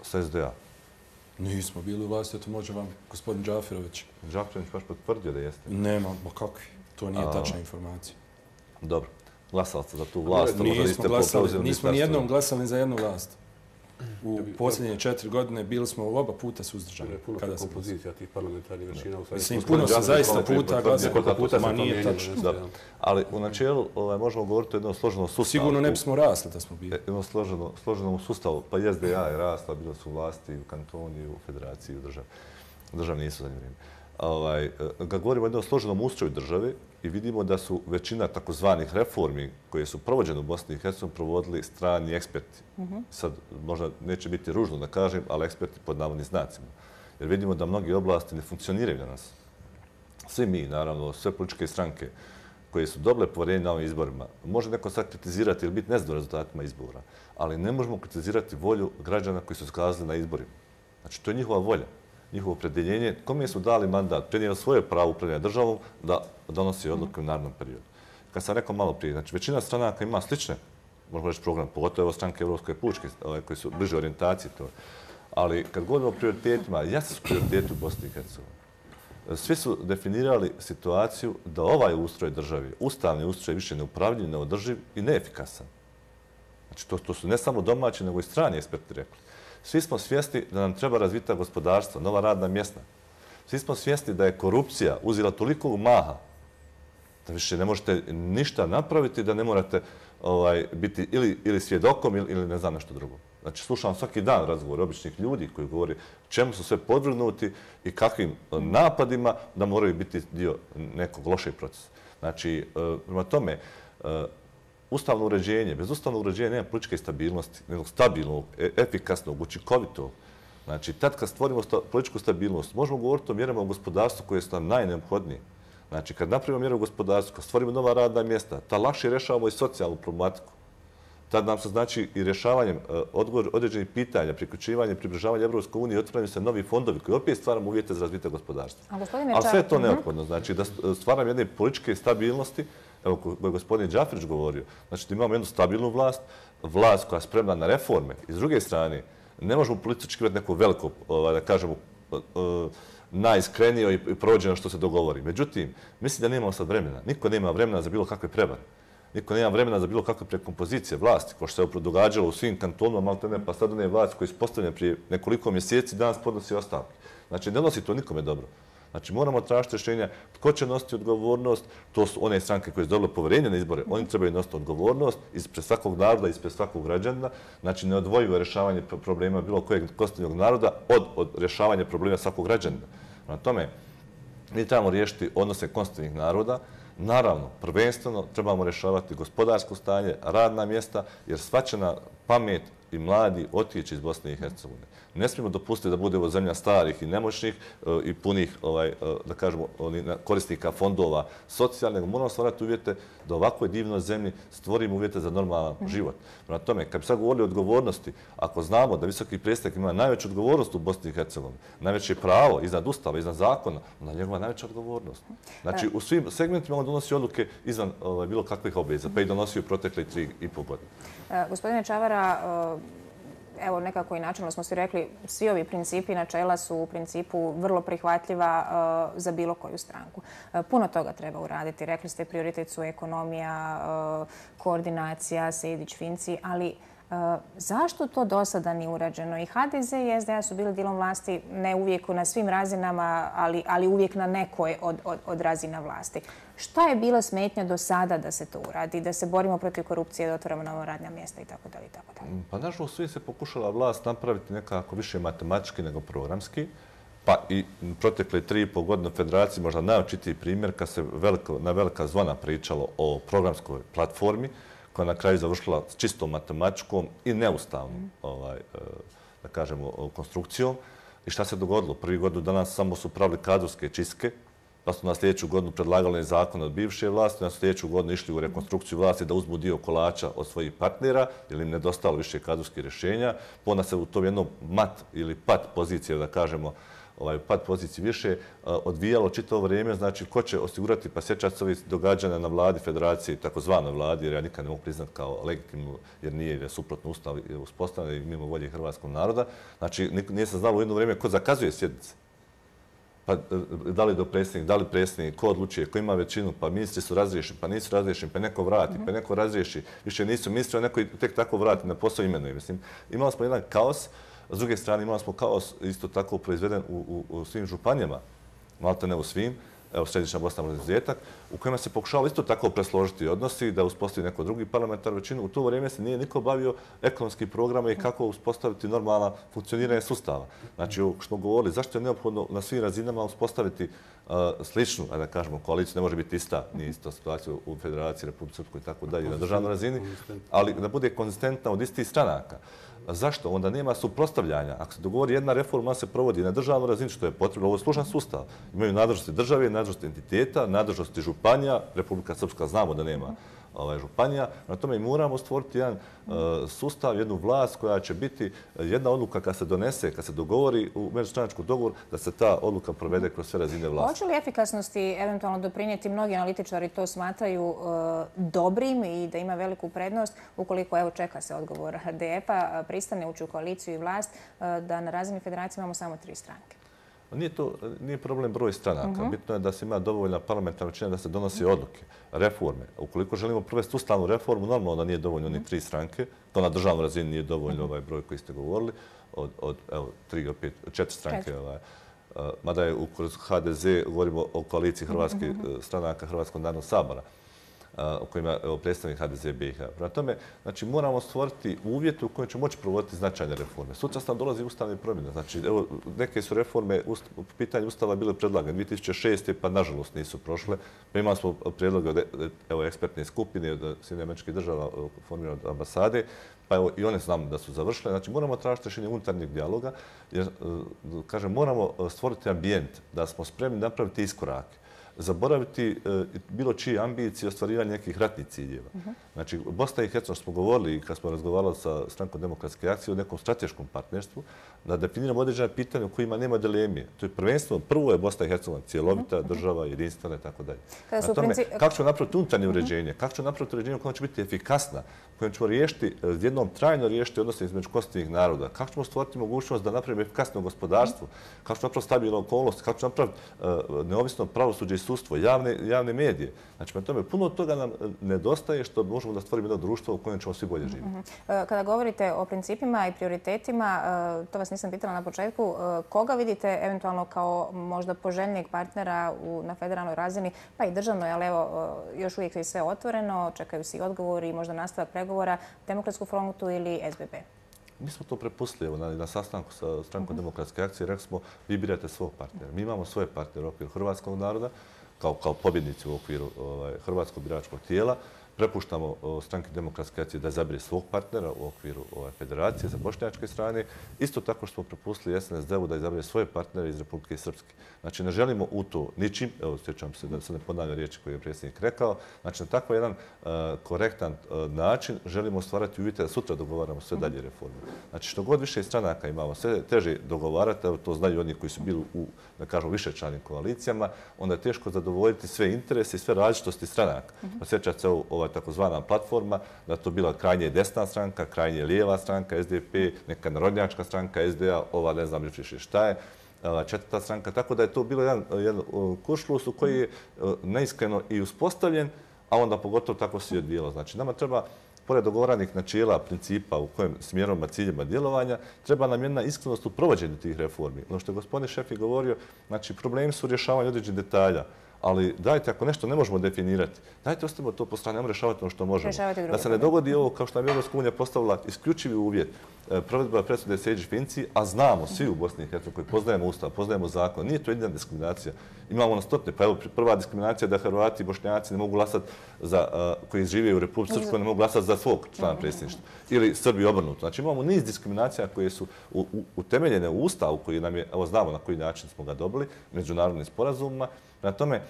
C: S S D A.
H: Nismo bili u vlasti, to može vam gospodin Džafirović.
C: Džafirović baš potvrdio da jeste.
H: Nema, ma kakvi. To nije tačna informacija.
C: Dobro. Glasali ste za tu vlast.
H: Nismo glasali, nismo nijednom glasali za jednu vlast. U posljednje četiri godine bili smo oba puta suzdržani.
B: Puno kompozicija tih parlamentarnih većina.
H: Mislim, puno se zaista puta glasali.
C: Koliko puta
H: ma nije tačno.
C: Ali u načelu možemo govoriti o jednom složenom sustavu.
H: Sigurno ne bismo rasli da smo bili.
C: Jednom složenom sustavu. Pa S D A je rasla, bila su vlasti u kantoni, u federaciji, u državi. Državi nisu za vrijeme. Ovaj, kad govorimo o jednom složenom ustroju države i vidimo da su većina takozvanih reformi koje su provođene u Bosni i Hercegovini provodili strani eksperti. Sad možda neće biti ružno da kažem, ali eksperti pod navodnim znacima. Jer vidimo da mnogi oblasti ne funkcioniraju danas. Svi mi, naravno, sve političke stranke koje su dobile poverenje na ovim izborima, može neko sad kritizirati ili biti nezadovoljan rezultatima izbora, ali ne možemo kritizirati volju građana koji su skazali na izborima. Znači, to je njihova volja, njihovo opredjeljenje, kome su dali mandat, prenijeli svoje pravo upravljanja državom da donosi odluke u narednom periodu. Kad sam rekao malo prije, znači većina stranaka ima slične, možemo reći program, pogotovo stranke Evropske pučke, koji su bliže orijentaciji to. Ali kad govorimo o prioritetima, jasni su prioriteti u Bosni i Hercegovini. Svi su definirali situaciju da ovaj ustroj državi, ustavni ustroj, više neupravljiv, neodrživ i neefikasan. Znači, to, to su ne samo domaći, nego i strani eksperti rekli. Svi smo svjesni da nam treba razvita gospodarstvo, nova radna mjesta. Svi smo svjesni da je korupcija uzela toliko maha da više ne možete ništa napraviti, da ne morate ovaj, biti ili, ili svjedokom ili, ili ne znam nešto drugo. Znači, slušam svaki dan razgovor običnih ljudi koji govori čemu su sve podvrgnuti i kakvim napadima da moraju biti dio nekog lošeg procesa. Znači, prema tome, ustavno uređenje, bez ustavnog uređenja nema političke stabilnosti, nego stabilnog, efikasnog, učinkovitog. Znači, tad kad stvorimo sta, političku stabilnost, možemo govoriti o mjerama u gospodarstvu koje su nam najneophodnije. Znači, kad napravimo mjere u gospodarstvu, kad stvorimo nova radna mjesta, tad lakše rješavamo i socijalnu problematiku. Tad nam se znači i rješavanjem odgovor određenih pitanja, priključivanje, približavanje Evropskoj uniji, otvaraju se novi fondovi koji opet stvaramo uvjete za razvitak gospodarstva. Ali sve je to neophodno. Znači, da stvaramo jedne političke stabilnosti, evo koje je gospodin Džafirić govorio, znači da imamo jednu stabilnu vlast, vlast koja je spremna na reforme. I s druge strane, ne možemo politički imati neko veliko, da kažemo, najiskrenije i provođeno što se dogovori. Međutim, mislim da nemamo sad vremena. Niko nema vremena za bilo kakve prevare. Niko nema vremena za bilo kakve prekompozicije vlasti, kao što se događalo u svim kantonima, malo ne, pa sad one vlasti koje su postavljene prije nekoliko mjeseci, danas podnosi ostavke. Znači, ne nosi to nikome dobro. Znači, moramo tražiti rješenja tko će nositi odgovornost. To su one stranke koje su dobile poverenje na izbore. Oni trebaju nositi odgovornost ispred svakog naroda, ispred svakog građana. Znači, neodvojivo rješavanje problema bilo kojeg konstitutivnog naroda od, od rješavanja problema svakog građanina. Na tome, mi trebamo riješiti odnose konstitutivnih naroda. Naravno, prvenstveno trebamo rješavati gospodarsko stanje, radna mjesta, jer svačana pamet i mladi otići iz Bosne i Hercegovine. Ne smijemo dopustiti da bude ovo zemlja starih i nemoćnih i punih, ovaj, da kažemo, korisnika fondova socijalnih, nego moramo stvarati uvjete da ovakvoj divnoj zemlji stvorimo uvjete za normalan život. Prema tome, kad bi sad govorili o odgovornosti, ako znamo da visoki predstavnik ima najveću odgovornost u Bosni i Hercegovini, najveće pravo iznad ustava, iznad zakona, onda je njegova najveća odgovornost. Znači, u svim segmentima on donosi odluke izvan ovaj, bilo kakvih obveza, pa i donosio protekle tri i pol godine.
A: Gospodine Čavara, evo nekako i načelno smo svi rekli, svi ovi principi i načela su u principu vrlo prihvatljiva uh, za bilo koju stranku. Uh, puno toga treba uraditi. Rekli ste, prioritet su ekonomija, uh, koordinacija, Sejdić-Finci, ali uh, zašto to do sada nije urađeno? I H D Z i S D A su bili dijelom vlasti ne uvijek na svim razinama, ali, ali uvijek na nekoj od, od, od razina vlasti. Šta je bila smetnja do sada da se to uradi, da se borimo protiv korupcije, da otvorimo nova radna mjesta i tako dalje i tako dalje?
C: Pa nažalost, svi se pokušala vlast napraviti nekako više matematički nego programski. Pa i protekle tri i pol godine u federaciji možda najočitiji primjer kad se veliko, na velika zvona pričalo o programskoj platformi koja na kraju završila s čistom matematičkom i neustavnom, ovaj, da kažemo, konstrukcijom. I šta se dogodilo? Prvi godinu danas samo su pravili kadrovske čistke, pa su na sljedeću godinu predlagali zakon od bivše vlasti, na sljedeću godinu išli u rekonstrukciju vlasti da uzmu dio kolača od svojih partnera, jer im nedostalo više kadrovskih rješenja. Onda se u tom jednom mat ili pat pozicije, da kažemo, ovaj pad poziciji više odvijalo čitavo vrijeme, znači ko će osigurati, pa sjećati se ovih događanja na vladi federacije, takozvanoj vladi, jer ja nikad ne mogu priznati kao legitimnu, jer nije, jer je suprotno ustav uspostavljen i mimo volje hrvatskog naroda. Znači, nije se znalo u jedno vrijeme ko zakazuje sjednice. Pa da li do predsjednik, da li predsjednik, ko odlučuje, ko ima većinu, pa ministri su razriješeni, pa nisu razriješeni, pa neko vrati, pa neko razriješi. Više nisu ministri, a neko tek tako vrati na posao imenuje. Mislim, imali smo jedan kaos. S druge strane, imali smo kaos isto tako proizveden u, u, u svim županijama, malte ne u svim, evo Središnja Bosna izuzetak, u kojima se pokušalo isto tako presložiti odnosi, da uspostavi neko drugi parlamentarnu većinu. U to vrijeme se nije niko bavio ekonomskim programa i kako uspostaviti normalno funkcioniranje sustava. Znači, što smo govorili, zašto je neophodno na svim razinama uspostaviti uh, sličnu, a da kažemo, koaliciju, ne može biti ista, nije ista situacija u Federaciji, Republike Srpskoj i tako dalje, na državnoj razini, ali da bude konzistentna od istih stranaka. Zašto? Onda nema suprotstavljanja. Ako se dogovori jedna reforma, ona se provodi na državnoj razini, što je potrebno. Ovo je služan sustav. Imaju nadležnosti države, nadležnosti entiteta, nadležnosti županija. Republika Srpska znamo da nema ovaj, županija. Na tome moramo stvoriti jedan uh, sustav, jednu vlast koja će biti jedna odluka kad se donese, kad se dogovori u međustranačku dogovor, da se ta odluka provede kroz sve razine vlasti.
A: Hoće li efikasnosti eventualno doprinijeti? Mnogi analitičari to smatraju uh, dobrim i da ima veliku prednost ukoliko, evo, čeka se odgovor D F-a, pristane ući u koaliciju i vlast, uh, da na razini federacije imamo samo tri stranke.
C: Nije to nije problem broj stranaka. Uh-huh. Bitno je da se ima dovoljna parlamentarna većina da se donosi odluke, reforme. Ukoliko želimo provesti ustavnu reformu, normalno da nije dovoljno ni tri stranke. To na državnoj razini nije dovoljno ovaj broj koji ste govorili. Od, od evo, tri do pet, četiri stranke. Ovaj. Uh, mada je kroz H D Z govorimo o koaliciji hrvatskih uh-huh. stranaka Hrvatskog narodnog sabora, o kojima je predstavnik H D Z B i H. Prema tome, znači, moramo stvoriti uvjete u kojima će moći provoditi značajne reforme. Sutra nam dolazi ustavne promjene. Znači, evo, neke su reforme u pitanju ustava bile predlagane dvije tisuće šeste. pa nažalost nisu prošle. Pa imali smo prijedloge od evo, ekspertne skupine od Sjedinjenih Američkih Država formirane od ambasade, pa evo i one znam da su završile. Znači, moramo tražiti rješenje unutarnjeg dijaloga, jer, kažem, moramo stvoriti ambijent da smo spremni napraviti iskorake. Zaboraviti e, bilo čije ambicije ostvarivanja nekih ratnih ciljeva. Uh-huh. Znači, Bosna i Hercegovina, smo govorili kad smo razgovarali sa Strankom demokratske akcije o nekom strateškom partnerstvu, da definiramo određene pitanje u kojima nema dilemije. To je prvenstveno, prvo je Bosna i Hercegovina cijelovita uh-huh. država, jedinstvena i tako dalje. Na tome, princi... kako ćemo napraviti unutarnje uh-huh. uređenje, kako ćemo napraviti uređenje u kojem će biti efikasna, u kojem ćemo riješiti, jednom trajno riješiti odnose između konstitutivnih naroda, kako ćemo stvoriti mogućnost da napravimo efikasno gospodarstvo, kako ćemo napraviti stabilnu okolnost, kako ćemo napraviti uh, neovisno pravosuđe i sudstvo, javne, javne medije. Znači, na tome puno toga nam nedostaje što možemo da stvorimo jedno društvo u kojem ćemo svi bolje živjeti.
A: Uh-huh. Kada govorite o principima i prioritetima, uh, to vas nisam pitala na početku, uh, koga vidite eventualno kao možda poželjnijeg partnera u, na federalnoj razini, pa i državnoj, ali evo, uh, još uvijek je sve otvoreno, čekaju se i odgovori i možda nastavak pregovora, Demokratsku frontu ili S B B?
C: Mi smo to prepustili evo, na, na sastanku sa Strankom uh-huh. demokratske akcije. Rekli smo, vi birate svog partnera. Mi imamo svoje partnere u okviru hrvatskog naroda, kao, kao pobjednici u okviru ovaj, hrvatskog biračkog tijela. Prepuštamo Stranke demokratske akcije da zabire svog partnera u okviru ovaj, federacije sa bošnjačke strane. Isto tako što smo prepustili S N S D-u da izabire svoje partnere iz Republike Srpske. Znači, ne želimo u to ničim, evo, sjećam se da se ne ponavlja riječi koje je predsjednik rekao, znači, na tako jedan uh, korektan uh, način želimo stvarati uvjete da sutra dogovaramo sve dalje reforme. Znači, što god više stranaka imamo, sve teže dogovarati, evo, to znaju oni koji su bili u, da kažemo, višečlanim koalicijama, onda je teško zadovoljiti sve interese i sve različitosti stranaka. Pa sjećate se ova takozvana platforma, da to bila krajnje desna stranka, krajnje lijeva stranka, S D P, neka narodnjačka stranka, S D A, ova ne znam više šta je, četvrta stranka. Tako da je to bilo jedan, jedan kuršlus u koji je neiskreno i uspostavljen, a onda pogotovo tako se i odvijelo. Znači, nama treba, pored dogovoranih načela, principa u kojem smjerovima, ciljima djelovanja, treba nam jedna iskrenost u provođenju tih reformi. Ono što je gospodin Šefik govorio, znači, problemi su rješavanje određenih detalja, ali dajte, ako nešto ne možemo definirati, dajte ostavimo to po strani, ajmo rješavati ono što možemo. Da se ne dogodi ovo, kao što nam je Europska unija postavila isključivi uvjet provedba presude Sejdić-Finci, a znamo svi u Bosni i Hercegovini koji poznajemo ustav, poznajemo zakon, nije to jedina diskriminacija. Imamo na stotine, pa evo prva diskriminacija da Hrvati i Bošnjaci ne mogu glasati za, koji žive u Republici Srpskoj, ne mogu glasati za svog člana predsjedništva. Ili Srbi obrnuto. Znači imamo niz diskriminacija koje su utemeljene u ustavu koji nam je, evo znamo na koji način smo ga dobili, međunarodnim sporazumima. Na tome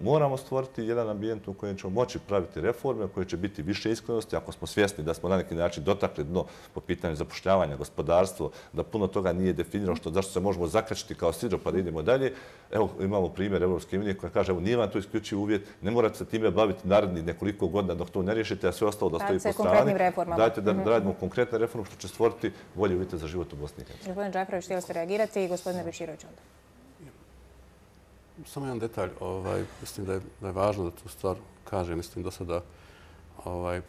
C: moramo stvoriti jedan ambijent u kojem ćemo moći praviti reforme, u kojoj će biti više iskrenosti, ako smo svjesni da smo na neki način dotakli dno po pitanju zapošljavanja, gospodarstvo, da puno toga nije definirano, što, zašto se možemo zakačiti kao sidro pa da idemo dalje. Evo imamo primjer Evropske unije koja kaže, evo nije vam to isključiv uvjet, ne morate se time baviti narednih nekoliko godina dok to ne riješite, a sve ostalo da stoji po strani. Dajte da radimo konkretne reforme što će stvoriti bolje uvjete za život u Bosni i Hercegovini.
A: Gospodin Džaferović, htjeli ste reagirati i gospodine Bečirović onda.
B: Samo jedan detalj, ovaj, mislim da je, da je važno da tu stvar kažem. Mislim do sada ovaj,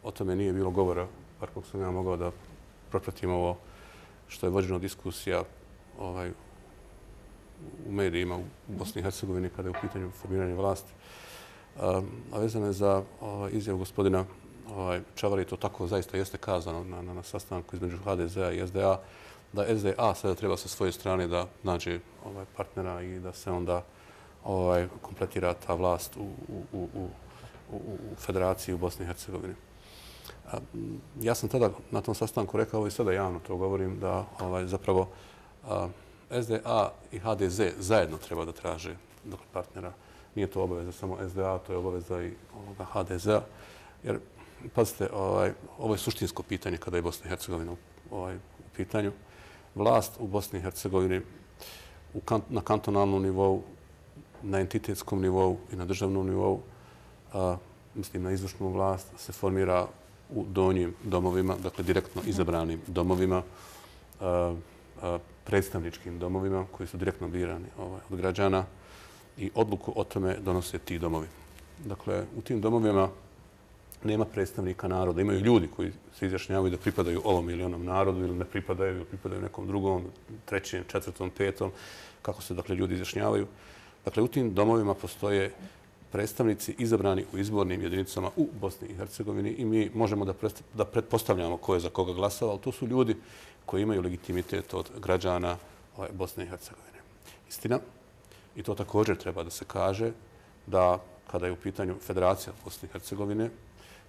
B: o tome nije bilo govora, bar koliko sam ja mogao da propratim ovo što je vođeno diskusija ovaj, u medijima u Bosni i Hercegovini kada je u pitanju formiranje vlasti. A, a vezano je za ovaj, izjavu gospodina ovaj, Čavara, to tako zaista jeste kazano na, na, na sastanku između H D Z-a i S D A, da S D A sada treba sa svoje strane da nađe ovaj, partnera i da se onda ovaj, kompletira ta vlast u, u, u, u, u federaciji u Bosni i Hercegovini. A, ja sam tada na tom sastanku rekao i sada javno to govorim da ovaj, zapravo a, S D A i H D Z zajedno treba da traže dakle, partnera. Nije to obaveza samo S D A, to je obaveza i ovoga H D Z-a. Jer, pazite, ovaj, ovo je suštinsko pitanje kada je Bosna i Hercegovina ovaj, u pitanju. Vlast u Bosni i Hercegovini u kan, na kantonalnom nivou, na entitetskom nivou i na državnom nivou, a, mislim na izvršnu vlast, se formira u donjim domovima, dakle direktno izabranim domovima, a, a, predstavničkim domovima koji su direktno birani ovaj, od građana i odluku o tome donose ti domovi. Dakle, u tim domovima nema predstavnika naroda. Imaju ljudi koji se izjašnjavaju da pripadaju ovom ili onom narodu ili ne pripadaju ili pripadaju nekom drugom, trećem, četvrtom, petom, kako se dakle ljudi izjašnjavaju. Dakle, u tim domovima postoje predstavnici izabrani u izbornim jedinicama u Bosni i Hercegovini i mi možemo da, da pretpostavljamo ko je za koga glasao, ali to su ljudi koji imaju legitimitet od građana ovaj, Bosne i Hercegovine. Istina, i to također treba da se kaže, da kada je u pitanju Federacija Bosne i Hercegovine,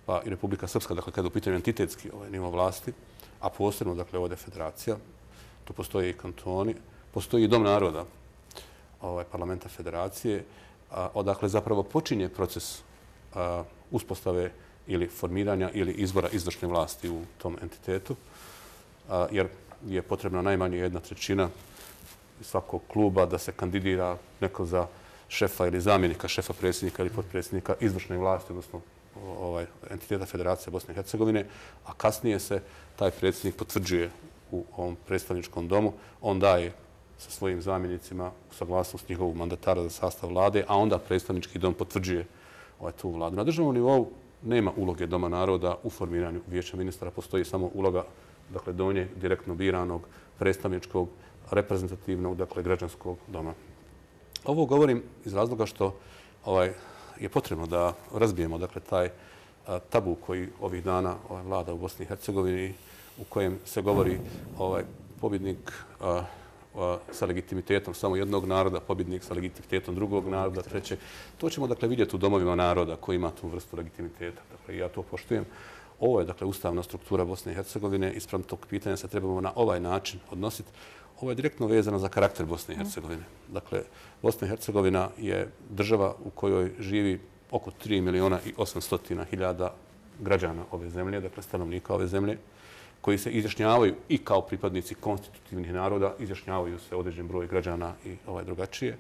B: pa i Republika Srpska, dakle kada je u pitanju entitetski ovaj, nivo vlasti, a posebno dakle ovdje Federacija, tu postoje i kantoni, postoji i Dom naroda ovaj, parlamenta Federacije, a, odakle zapravo počinje proces a, uspostave ili formiranja ili izbora izvršne vlasti u tom entitetu, a, jer je potrebna najmanje jedna trećina svakog kluba da se kandidira neko za šefa ili zamjenika šefa predsjednika ili potpredsjednika izvršne vlasti, odnosno ovaj, entiteta Federacije Bosne i Hercegovine, a kasnije se taj predsjednik potvrđuje u ovom predstavničkom domu. On daje sa svojim zamjenicima saglasnost njihovog mandatara za sastav vlade, a onda predstavnički dom potvrđuje ovaj, tu vladu. Na državnom nivou nema uloge Doma naroda u formiranju vijeća ministara, postoji samo uloga dakle, donje direktno biranog predstavničkog reprezentativnog, dakle građanskog doma. Ovo govorim iz razloga što ovaj, je potrebno da razbijemo dakle, taj a, tabu koji ovih dana ovaj, vlada u Bosni i Hercegovini, u kojem se govori ovaj, pobjednik a, a, sa legitimitetom samo jednog naroda, pobjednik sa legitimitetom drugog naroda, treće. To ćemo dakle, vidjeti u domovima naroda koji ima tu vrstu legitimiteta. Dakle, ja to poštujem. Ovo je dakle, ustavna struktura Bosne i Hercegovine. Isprem tog pitanja se trebamo na ovaj način odnositi. Ovo je direktno vezano za karakter Bosne i Hercegovine. Dakle, Bosna i Hercegovina je država u kojoj živi oko tri miliona i osamsto hiljada građana ove zemlje, dakle stanovnika ove zemlje, koji se izjašnjavaju i kao pripadnici konstitutivnih naroda, izjašnjavaju se određen broj građana i ovaj drugačije.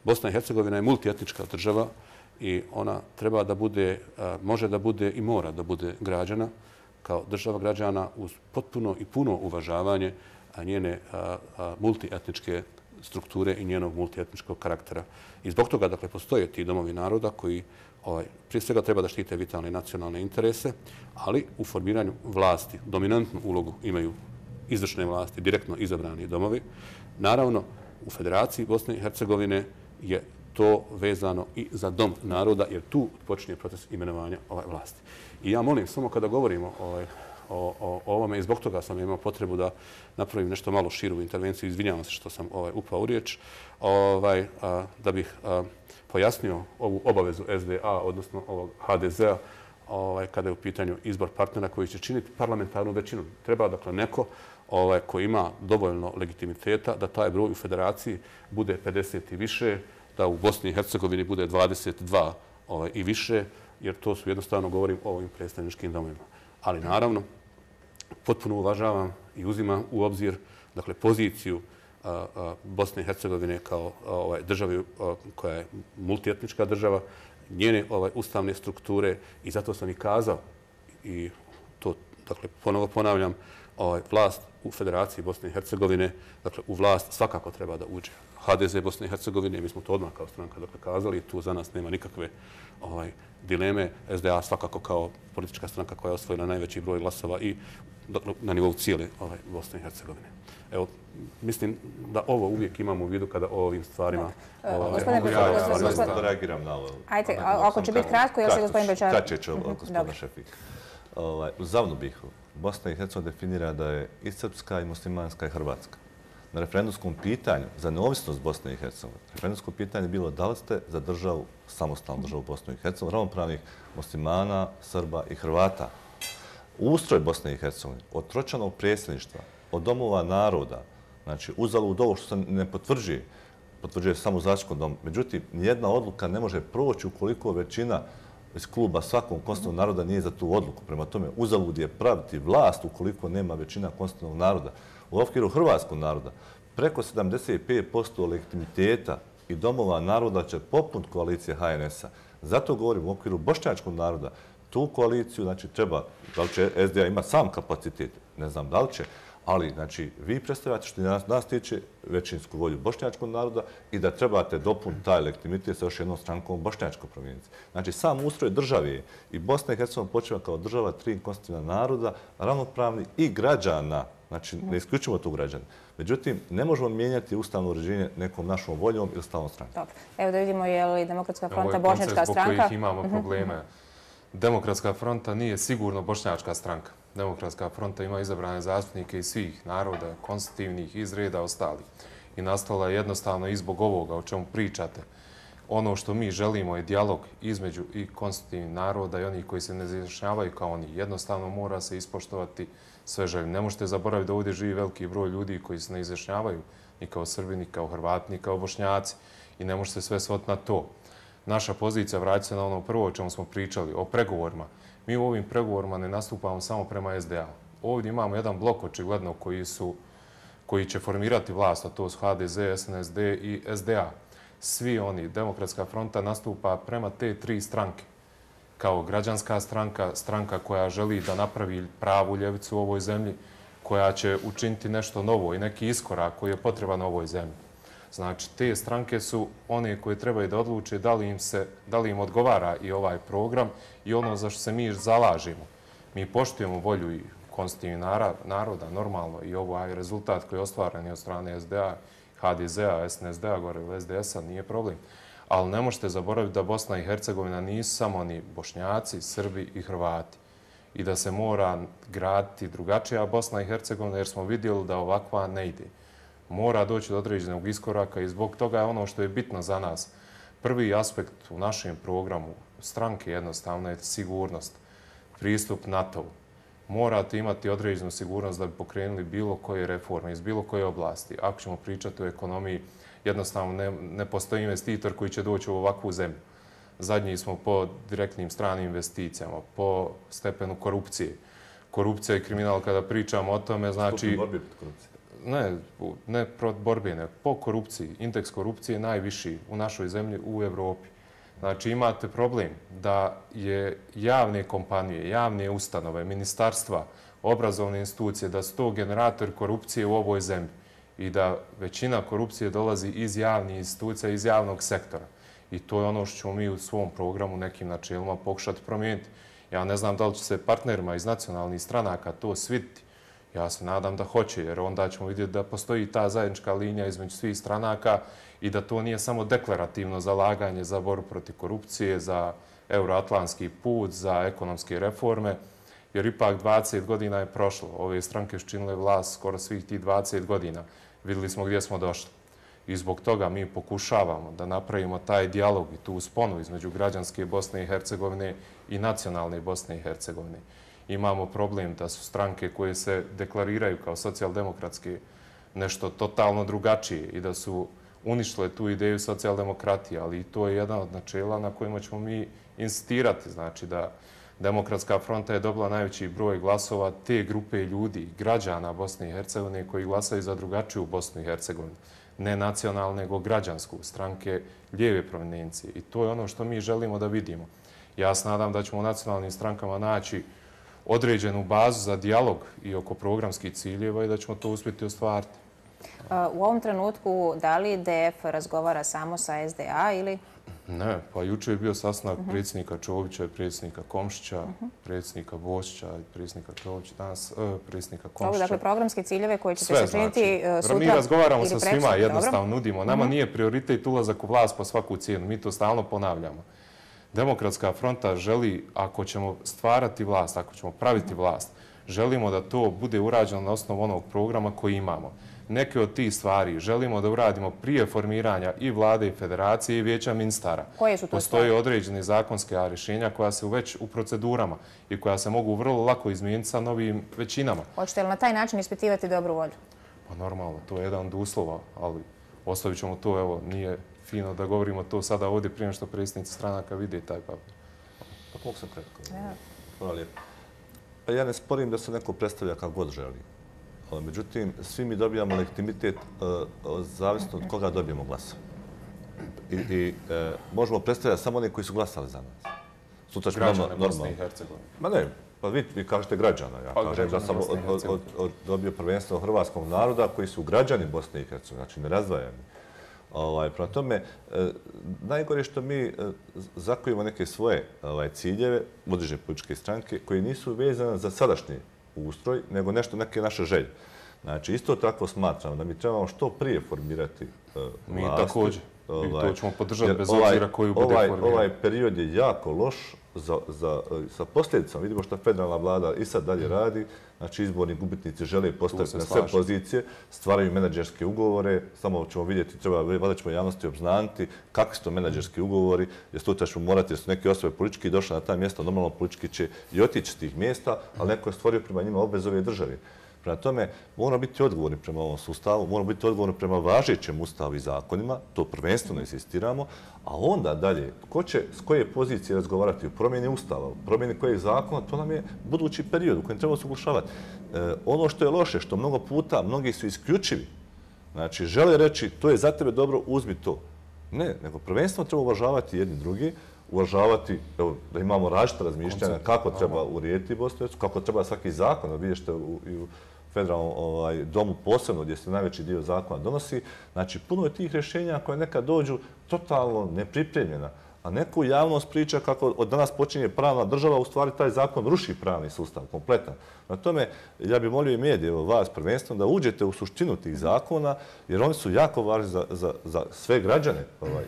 B: Bosna i Hercegovina je multietnička država i ona treba da bude, može da bude i mora da bude građana kao država građana uz potpuno i puno uvažavanje njene a, a, multietničke strukture i njenog multietničkog karaktera. I zbog toga dakle, postoje ti domovi naroda koji ovaj, prije svega treba da štite vitalne nacionalne interese, ali u formiranju vlasti dominantnu ulogu imaju izvršne vlasti, direktno izabrani domovi. Naravno, u Federaciji Bosne i Hercegovine je to vezano i za dom naroda, jer tu počinje proces imenovanja ovaj vlasti. I ja molim, samo kada govorimo ovaj, o, o, o ovome, i zbog toga sam imao potrebu da napravim nešto malo širu intervenciju, izvinjavam se što sam ovaj, upao u riječ, ovaj, a, da bih a, pojasnio ovu obavezu S D A, odnosno ovog H D Z-a, ovaj, kada je u pitanju izbor partnera koji će činiti parlamentarnu većinu. Treba dakle neko ovaj, koji ima dovoljno legitimiteta da taj broj u federaciji bude pedeset i više, da u Bosni i Hercegovini bude dvadeset dva ovaj, i više, jer to su jednostavno, govorim o ovim predstavničkim domovima. Ali naravno, potpuno uvažavam i uzimam u obzir dakle, poziciju a, a, Bosne i Hercegovine kao a, ovaj, državi a, koja je multietnička država, njene ovaj, ustavne strukture, i zato sam i kazao, i to dakle, ponovo ponavljam, ovaj, vlast u Federaciji Bosne i Hercegovine, dakle, u vlast svakako treba da uđe H D Z Bosne i Hercegovine, mi smo to odmah kao stranka dakle, kazali, tu za nas nema nikakve ovaj, dileme. S D A svakako kao politička stranka koja je osvojila najveći broj glasova i dakle, na nivou cijele ovaj, Bosne i Hercegovine. Evo, mislim da ovo uvijek imamo u vidu kada o ovim stvarima...
C: Mogu ja da reagiram na ovo.
A: Ajde, ako će biti kratko, još je gospodin Bečar.
C: Kraće će gospodina Šefik. U Zavnu Bihu Bosna i Hercegovina definira da je i srpska, i muslimanska, i hrvatska. Na referendumskom pitanju za neovisnost Bosne i Hercegovine, referendumsko pitanje je bilo da li ste za državu, samostalnu državu Bosne i Hercegovine, ravnopravnih muslimana, Srba i Hrvata. Ustroj Bosne i Hercegovine, od tročanog predsjedništva, od domova naroda, znači uzalud ovo što se ne potvrđuje, potvrđuje samo u Zaštićkom domu. Međutim, nijedna odluka ne može proći ukoliko većina iz kluba svakog konstitutivnog naroda nije za tu odluku. Prema tome, uzalud je praviti vlast ukoliko nema većina konstitutivnog naroda. U okviru hrvatskog naroda preko sedamdeset pet posto legitimiteta i domova naroda će poput koalicije H N S-a. Zato govorim u okviru bošnjačkog naroda. Tu koaliciju znači, treba, da li će S D A ima sam kapacitet, ne znam da li će, ali znači, vi predstavljate što nas, nas tiče većinsku volju bošnjačkog naroda i da trebate dopuniti taj legitimitet sa još jednom strankom bošnjačkog provincije. Znači, sam ustroj države je i Bosna i Hercegovina počeva kao država tri konstitutivna naroda, ravnopravni i građana. Znači, ne isključimo tu građana. Međutim, ne možemo mijenjati ustavno uređenje nekom našom voljom ili stalnom strankom.
A: Dobro. Evo da vidimo je li Demokratska fronta bošnjačka stranka.
G: Ovo je koncept zbog kojih imamo probleme. Demokratska fronta nije sigurno bošnjačka stranka. Demokratska fronta ima izabrane zastupnike iz svih naroda, konstitutivnih, iz reda ostalih. I nastala je jednostavno i zbog ovoga o čemu pričate. Ono što mi želimo je dijalog između i konstitutivnih naroda i onih koji se ne izjašnjavaju kao oni. Jednostavno mora se ispoštovati sve želje. Ne možete zaboraviti da ovdje živi veliki broj ljudi koji se ne izjašnjavaju ni kao Srbi, ni kao Hrvati, ni kao Bošnjaci. I ne možete sve svoti na to. Naša pozicija vraća se na ono prvo o čemu smo pričali, o pregovorima. Mi u ovim pregovorima ne nastupamo samo prema S D A. Ovdje imamo jedan blok očigledno koji, su, koji će formirati vlast, a to su H D Z, S N S D i S D A. Svi oni, Demokratska fronta nastupa prema te tri stranke. Kao građanska stranka, stranka koja želi da napravi pravu ljevicu u ovoj zemlji, koja će učiniti nešto novo i neki iskorak koji je potreban u ovoj zemlji. Znači, te stranke su one koje trebaju da odluče da li im, se, da li im odgovara i ovaj program i ono za što se mi zalažemo. Mi poštujemo volju i konstitutivnih naroda, normalno, i ovaj rezultat koji je ostvaren od strane S D A, H D Z-a, S N S D-a, gore u S D S-a, nije problem. Ali ne možete zaboraviti da Bosna i Hercegovina nisu samo oni Bošnjaci, Srbi i Hrvati. I da se mora graditi drugačija Bosna i Hercegovina jer smo vidjeli da ovakva ne ide. Mora doći do određenog iskoraka i zbog toga je ono što je bitno za nas. Prvi aspekt u našem programu stranke jednostavno je sigurnost, pristup NATO-u. Morate imati određenu sigurnost da bi pokrenuli bilo koje reforme iz bilo koje oblasti. Ako ćemo pričati o ekonomiji, jednostavno ne, ne postoji investitor koji će doći u ovakvu zemlju. Zadnji smo po direktnim stranim investicijama, po stepenu korupcije. Korupcija i kriminal, kada pričamo o tome, znači... Ne, ne protiv borbe, ne. Po korupciji. Indeks korupcije je najviši u našoj zemlji u Evropi. Znači imate problem da je javne kompanije, javne ustanove, ministarstva, obrazovne institucije, da su to generator korupcije u ovoj zemlji i da većina korupcije dolazi iz javnih institucija, iz javnog sektora. I to je ono što ćemo mi u svom programu nekim načelima pokušati promijeniti. Ja ne znam da li će se partnerima iz nacionalnih stranaka to sviditi. Ja se nadam da hoće, jer onda ćemo vidjeti da postoji ta zajednička linija između svih stranaka i da to nije samo deklarativno zalaganje za borbu protiv korupcije, za euroatlantski put, za ekonomske reforme, jer ipak dvadeset godina je prošlo. Ove stranke su činile vlast skoro svih tih dvadeset godina. Vidjeli smo gdje smo došli. I zbog toga mi pokušavamo da napravimo taj dijalog i tu sponu između građanske Bosne i Hercegovine i nacionalne Bosne i Hercegovine. Imamo problem da su stranke koje se deklariraju kao socijaldemokratske nešto totalno drugačije i da su uništile tu ideju socijaldemokratije, ali i to je jedan od načela na kojima ćemo mi insistirati. Znači da Demokratska fronta je dobila najveći broj glasova te grupe ljudi, građana Bosne i Hercegovine koji glasaju za drugačiju Bosnu i Hercegovinu. Ne nacionalne, nego građansku, stranke lijeve provenencije. I to je ono što mi želimo da vidimo. Ja se nadam da ćemo u nacionalnim strankama naći određenu bazu za dijalog i oko programskih ciljeva i da ćemo to uspjeti ostvariti.
A: U ovom trenutku da li D F razgovara samo sa S D A ili...
G: Ne, pa jučer je bio sastanak predsjednika Čovića i predsjednika Komšića, predsjednika Bošića i predsjednika Čovića, danas predsjednika Komšića.
A: Dakle, programske ciljeve koje ćete se činiti sutra.
G: Mi razgovaramo sa svima, jednostavno nudimo. Nama nije prioritet ulazak u vlast po svaku cijenu, mi to stalno ponavljamo. Demokratska fronta želi, ako ćemo stvarati vlast, ako ćemo praviti vlast, želimo da to bude urađeno na osnovu onog programa koji imamo. Neke od tih stvari želimo da uradimo prije formiranja i vlade i federacije i vijeća ministara.
A: Koje su to
G: Postoje
A: stvari?
G: određene zakonske rješenja koja su već u procedurama i koja se mogu vrlo lako izmijeniti sa novim većinama.
A: Hoćete li na taj način ispitivati dobru volju?
G: Pa normalno, to je jedan od uslova, ali ostavit ćemo to, evo, nije fino da govorimo to sada ovdje prije što predsjednici stranaka vide taj papir.
C: Pa mogu sam kratko. Hvala lijepo. Pa ja ne sporim da se neko predstavlja kako god želi. Međutim, svi mi dobijamo legitimitet zavisno od koga dobijemo glasa. I možemo predstavljati samo one koji su glasali za nas.
G: Građane Bosne i Hercegovine.
C: Ma ne, pa vi kažete građana. Ja kažem da sam dobio prvenstveno hrvatskog naroda koji su građani Bosne i Hercegovine, znači nerazdvajani. Prema tome, najgore je što mi zakojimo neke svoje ciljeve, određene političke stranke, koji nisu vezane za sadašnji ustroj, nego nešto, neke naše želje. Znači, isto tako smatramo da mi trebamo što prije formirati vlasti.
G: Mi također. I to ćemo podržati bez obzira koju bude formirati.
C: Ovaj period je jako loš sa posljedicama. Vidimo što federalna vlada i sad dalje radi. Znači, izborni gubitnici žele postaviti na sve pozicije, stvaraju menadžerske ugovore. Samo ćemo vidjeti, treba, valjda ćemo javnosti obznaniti kakvi su to menadžerski ugovori, jer sutra ćemo morati, jer su neke osobe politički došle na ta mjesta, normalno politički će i otići s tih mjesta, ali neko je stvorio prema njima obveze ove države. Prema tome, moramo biti odgovorni prema ovom sustavu, moramo biti odgovorni prema važećem ustavu i zakonima, to prvenstveno insistiramo, a onda dalje, ko će s koje pozicije razgovarati u promjeni ustava, u promjeni kojeg zakona, to nam je budući period u kojem trebamo se uglašavati. Ono što je loše, što mnogo puta mnogi su isključivi, znači žele reći to je za tebe dobro, uzmi to. Ne, nego prvenstveno treba uvažavati jedni drugi, uvažavati da imamo različite razmišljanja kako treba urediti Bosnu, kako treba svaki zakon, da vidite i u federalnom domu posebno gdje se najveći dio zakona donosi. Znači, puno je tih rješenja koje nekad dođu totalno nepripremljena, a neko javnost priča kako od danas počinje pravna država, u stvari taj zakon ruši pravni sustav kompletan. Na tome, ja bih molio i medije, vas prvenstveno, da uđete u suštinu tih zakona, jer oni su jako važni za sve građane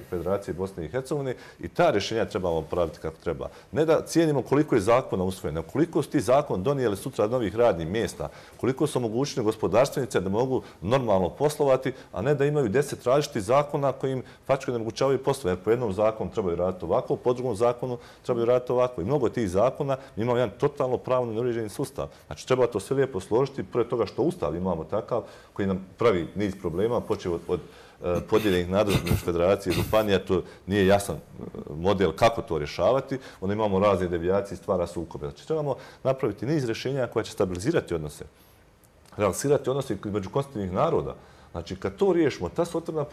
C: Federacije Bosne i Hercegovine i ta rješenja trebamo praviti kako treba. Ne da cijenimo koliko je zakona usvojeno, koliko su ti zakon donijeli sutra novih radnih mjesta, koliko su omogućili gospodarstvenice da mogu normalno poslovati, a ne da imaju deset različitih zakona koji im fačko onemogućavaju poslove. Jer po jednom zakonu trebaju raditi ovako, po drugom zakonu trebaju raditi ovako. I mnogo tih zakona imamo jedan totalno pravno neuređeni sustav. Znači, treba to sve lijepo složiti, pored toga što ustav imamo takav, koji nam pravi niz problema, počeo od podijeljenih nadležnosti federacije i županija, to nije jasan model kako to rješavati, onda imamo razne devijacije i stvara sukobe. Znači, trebamo napraviti niz rješenja koja će stabilizirati odnose, relaksirati odnose među konstitutivnih naroda. Znači, kad to riješimo, ta su otvorena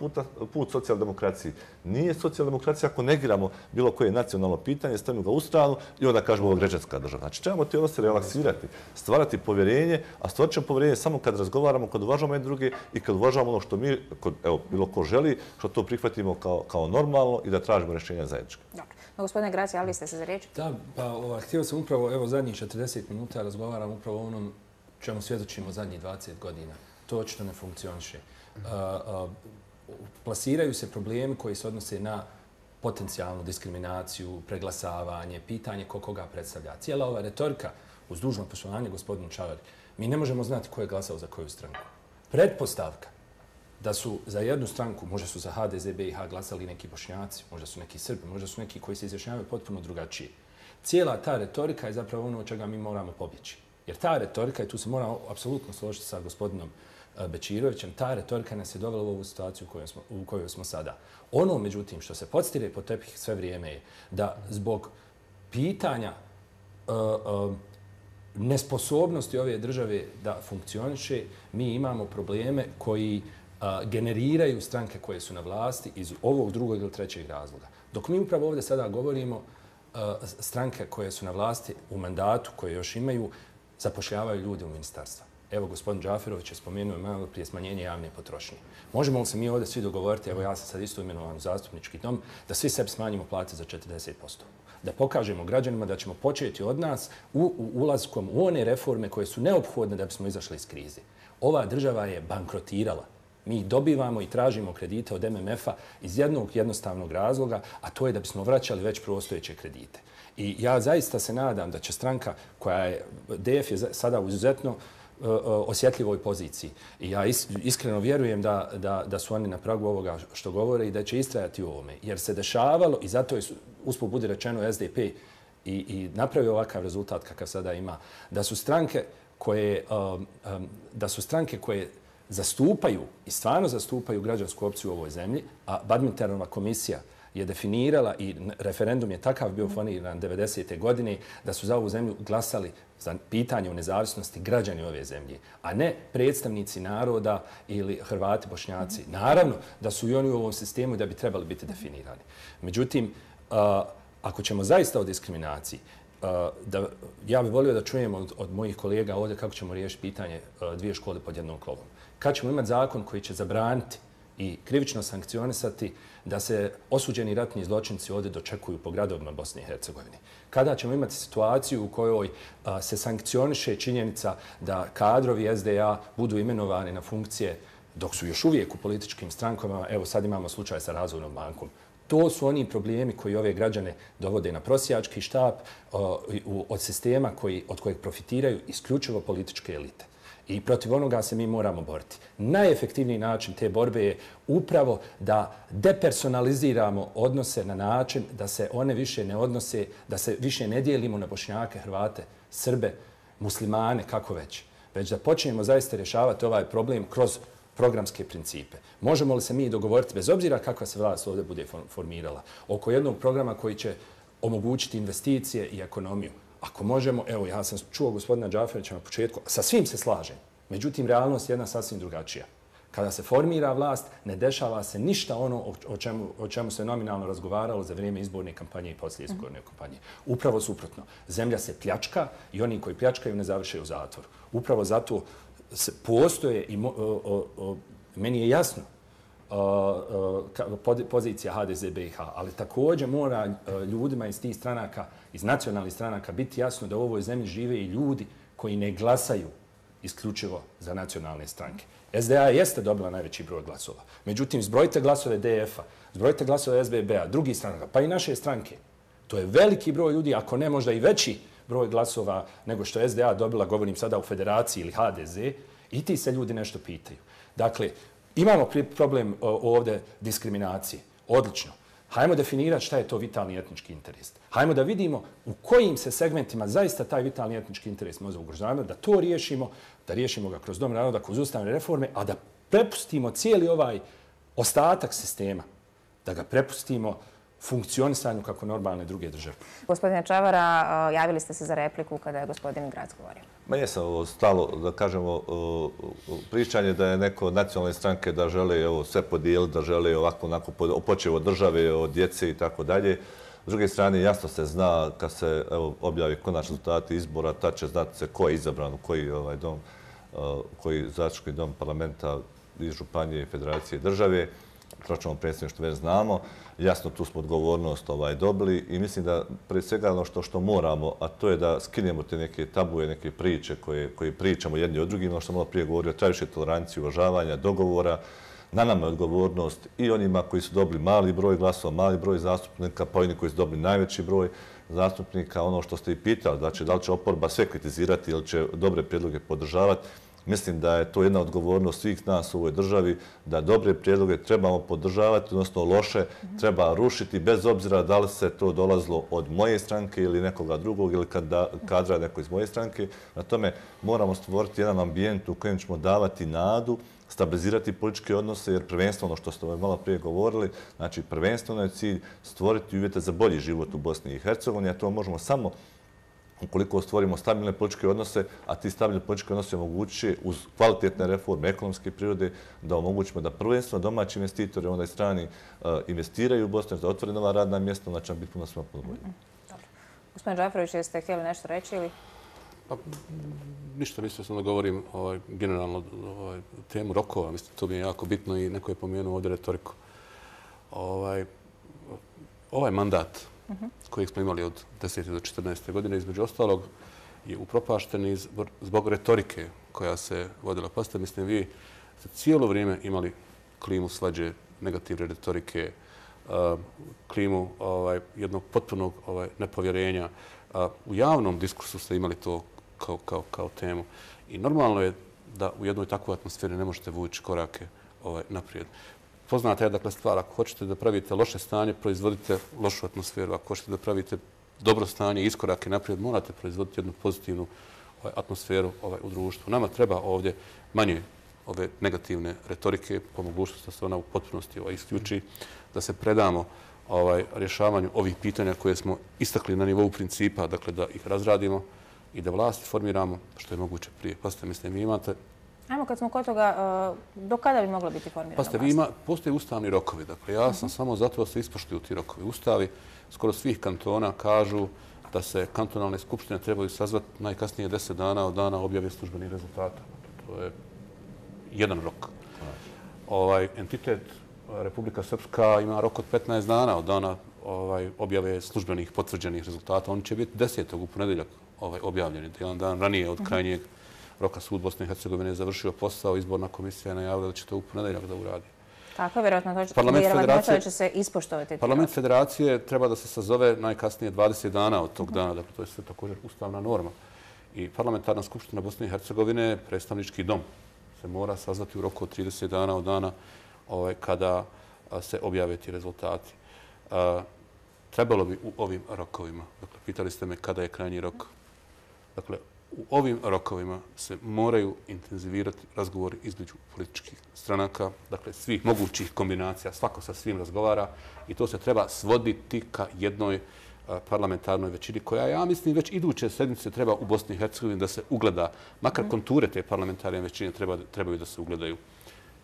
C: put socijaldemokraciji. Nije socijaldemokracija ako negiramo bilo koje nacionalno pitanje, stavimo ga u stranu i onda kažemo ovo građanska država. Znači, trebamo te odnose relaksirati, stvarati povjerenje, a stvarat ćemo povjerenje samo kad razgovaramo, kad uvažamo jedne druge i kad uvažamo ono što mi, evo, bilo ko želi, što to prihvatimo kao normalno i da tražimo rješenja zajedničke.
A: Dobro. Gospodine Graci, javili ste se za riječ?
H: Da, pa htio sam upravo, evo, zadnjih četrdeset minuta razgovaram upravo o onom čemu svjedočimo zadnjih dvadeset godina. To očito ne funkcioniše. Plasiraju se problemi koji se odnose na potencijalnu diskriminaciju, preglasavanje, pitanje ko koga predstavlja. Cijela ova retorika, uz dužno poštovanje gospodinu Čavari, mi ne možemo znati ko je glasao za koju stranku. Pretpostavka da su za jednu stranku, možda su za H D Z B i H glasali neki Bošnjaci, možda su neki Srbi, možda su neki koji se izjašnjavaju potpuno drugačije. Cijela ta retorika je zapravo ono od čega mi moramo pobjeći. Jer ta retorika, i tu se moramo apsolutno složiti sa gospodinom Bečirovićem, ta retorika nas je dovela u ovu situaciju u kojoj smo, u kojoj smo sada. Ono, međutim, što se podstire pod tepih sve vrijeme je da zbog pitanja uh, uh, nesposobnosti ove države da funkcioniše, mi imamo probleme koji uh, generiraju stranke koje su na vlasti iz ovog drugog ili trećeg razloga. Dok mi upravo ovdje sada govorimo, uh, stranke koje su na vlasti u mandatu, koje još imaju, zapošljavaju ljude u ministarstva. Evo, gospodin Džaferović je spomenuo malo prije smanjenje javne potrošnje. Možemo li se mi ovdje svi dogovoriti, evo ja sam sad isto imenovan u zastupnički dom, da svi sebi smanjimo plate za četrdeset posto. Da pokažemo građanima da ćemo početi od nas u, u ulazkom u one reforme koje su neophodne da bismo izašli iz krize. Ova država je bankrotirala. Mi dobivamo i tražimo kredite od M M F-a iz jednog jednostavnog razloga, a to je da bismo vraćali već postojeće kredite. I ja zaista se nadam da će stranka koja je, D F je sada u izuzetno osjetljivoj poziciji. I ja iskreno vjerujem da, da, da su oni na pragu ovoga što govore i da će istrajati u ovome. Jer se dešavalo, i zato je usput budi rečeno S D P i, i napravio ovakav rezultat kakav sada ima, da su stranke koje, um, um, da su stranke koje zastupaju i stvarno zastupaju građansku opciju u ovoj zemlji, a Badmintonova komisija je definirala i referendum je takav bio foniran devedesete godine da su za ovu zemlju glasali za pitanje o nezavisnosti građani ove zemlje, a ne predstavnici naroda ili Hrvati, Bošnjaci. Naravno da su i oni u ovom sistemu i da bi trebali biti definirani. Međutim, ako ćemo zaista o diskriminaciji, da, ja bih volio da čujemo od, od mojih kolega ovdje kako ćemo riješiti pitanje dvije škole pod jednom krovom. Kad ćemo imati zakon koji će zabraniti i krivično sankcionisati da se osuđeni ratni zločinci ovdje dočekuju po gradovima Bosne i Hercegovine. Kada ćemo imati situaciju u kojoj a, se sankcioniše činjenica da kadrovi S D A budu imenovani na funkcije dok su još uvijek u političkim strankama, evo sad imamo slučaj sa Razvojnom bankom. To su oni problemi koji ove građane dovode na prosjački štap a, u, od sistema koji, od kojeg profitiraju isključivo političke elite. I protiv onoga se mi moramo boriti. Najefektivniji način te borbe je upravo da depersonaliziramo odnose na način da se one više ne odnose, da se više ne dijelimo na Bošnjake, Hrvate, Srbe, muslimane, kako već. Već da počnemo zaista rješavati ovaj problem kroz programske principe. Možemo li se mi dogovoriti, bez obzira kakva se vlast ovdje bude formirala, oko jednog programa koji će omogućiti investicije i ekonomiju? Ako možemo, evo, ja sam čuo gospodina Džaferića na početku, sa svim se slažem. Međutim, realnost je jedna sasvim drugačija. Kada se formira vlast, ne dešava se ništa ono o čemu, o čemu se nominalno razgovaralo za vrijeme izborne kampanje i poslije izborne kampanje. Upravo suprotno. Zemlja se pljačka i oni koji pljačkaju ne završaju u zatvoru. Upravo zato se postoje i mo, o, o, o, meni je jasno pozicija H D Z B i H, ali također mora ljudima iz tih stranaka, iz nacionalnih stranaka, biti jasno da u ovoj zemlji žive i ljudi koji ne glasaju isključivo za nacionalne stranke. S D A jeste dobila najveći broj glasova. Međutim, zbrojite glasove D F-a, zbrojite glasove S B B-a, drugih stranaka, pa i naše stranke. To je veliki broj ljudi, ako ne možda i veći broj glasova nego što je S D A dobila, govorim sada u Federaciji ili H D Z, i ti se ljudi nešto pitaju. Dakle, imamo problem ovdje diskriminacije. Odlično. Hajmo definirati šta je to vitalni etnički interes. Hajmo da vidimo u kojim se segmentima zaista taj vitalni etnički interes može ugrožavati, da to riješimo, da riješimo ga kroz Dom naroda, kroz ustavne reforme, a da prepustimo cijeli ovaj ostatak sistema, da ga prepustimo funkcionisanju kako normalne druge države.
A: Gospodine Čavara, javili ste se za repliku kada je gospodin Grac govorio.
C: Ma jesam ovo stalo, da kažemo, pričanje da je neko nacionalne stranke da žele evo, sve podijeliti, da žele ovako, onako, počev od države, od djece i tako dalje. S druge strane, jasno se zna kad se evo, objavi konačni rezultati izbora, tad će znati se ko je izabran u koji ovaj dom, koji zastupnički dom parlamenta iz Županije, Federacije, države. proračunom predsjedništvu već znamo. Jasno, tu smo odgovornost ovaj, dobili i mislim da pre svega ono što, što moramo, a to je da skinemo te neke tabuje, neke priče koje, koje pričamo jedni od drugim, ono što sam malo prije govorio, treba više tolerancije, uvažavanja, dogovora. Na nama je odgovornost i onima koji su dobili mali broj glasova, mali broj zastupnika, pa oni koji su dobili najveći broj zastupnika. Ono što ste i pitali, znači da li će oporba sve kritizirati ili će dobre prijedloge podržavati. Mislim da je to jedna odgovornost svih nas u ovoj državi, da dobre prijedloge trebamo podržavati, odnosno loše treba rušiti, bez obzira da li se to dolazilo od moje stranke ili nekoga drugog ili kadra neko iz moje stranke. Na tome moramo stvoriti jedan ambijent u kojem ćemo davati nadu, stabilizirati političke odnose, jer prvenstveno, ono što ste malo prije govorili, znači prvenstveno je cilj stvoriti uvjete za bolji život u Bosni i Hercegovini, a to možemo samo ukoliko stvorimo stabilne političke odnose, a ti stabilne političke odnose omogućuje uz kvalitetne reforme ekonomske prirode da omogućimo da prvenstveno domaći investitori, onda i strani, investiraju u Bosnu, da otvore nova radna mjesta, onda će nam biti puno svima puno bolje.
A: Gospodin Džaferović, jeste htjeli nešto reći ili?
B: Pa, ništa, mislio sam da govorim ovaj, generalno ovaj, temu rokova. Mislim, to mi je jako bitno i neko je pomenuo ovdje retoriku. Ovaj, ovaj mandat kojeg smo imali od desete do četrnaeste godine, između ostalog, je upropašten iz, zbog retorike koja se vodila. Pa ste, mislim, vi ste cijelo vrijeme imali klimu svađe, negativne retorike, uh, klimu ovaj, jednog potpunog ovaj, nepovjerenja. Uh, u javnom diskursu ste imali to kao, kao, kao temu. I normalno je da u jednoj takvoj atmosferi ne možete vući korake ovaj, naprijed. Poznata je dakle stvar, ako hoćete da pravite loše stanje, proizvodite lošu atmosferu. Ako hoćete da pravite dobro stanje, iskorake naprijed, morate proizvoditi jednu pozitivnu ovaj, atmosferu ovaj, u društvu. Nama treba ovdje manje ove negativne retorike, po mogućnosti da se ona u potpunosti ovaj, isključi, da se predamo ovaj, rješavanju ovih pitanja koje smo istakli na nivou principa, dakle da ih razradimo i da vlasti formiramo što je moguće prije. Pasite, mislim, vi imate...
A: Ajmo, kad smo kod toga, do kada bi mogla biti formirana vlast?
B: Pasite, vi ima, postoje ustavni rokovi. Dakle, ja sam samo zato da se ispoštuju ti rokovi. Ustavi skoro svih kantona kažu da se kantonalne skupštine trebaju sazvati najkasnije deset dana od dana objave službenih rezultata. To je jedan rok. Ovaj, entitet Republika Srpska ima rok od petnaest dana od dana ovaj, objave službenih potvrđenih rezultata. Oni će biti desetog u ponedeljak ovaj, objavljeni. Jedan dan ranije od krajnjeg roka sud Bosne i Hercegovine je završio posao, izborna komisija je najavila da će to u ponedeljak da uradi.
A: Tako je, vjerojatno to će se ispoštovati.
B: Parlament federacije treba da se sazove najkasnije dvadeset dana od tog dana. Dakle, to je sve također ustavna norma. I parlamentarna skupština Bosne i Hercegovine, predstavnički dom, se mora sazvati u roku od trideset dana od dana ovaj, kada se objave ti rezultati. A, trebalo bi u ovim rokovima, dakle, pitali ste me kada je krajnji rok, dakle, u ovim rokovima se moraju intenzivirati razgovori između političkih stranaka, dakle svih mogućih kombinacija, svako sa svim razgovara i to se treba svoditi ka jednoj parlamentarnoj većini koja, ja mislim, već iduće sedmice treba u Bosni i Hercegovini da se ugleda, makar konture te parlamentarne većine treba, trebaju da se ugledaju.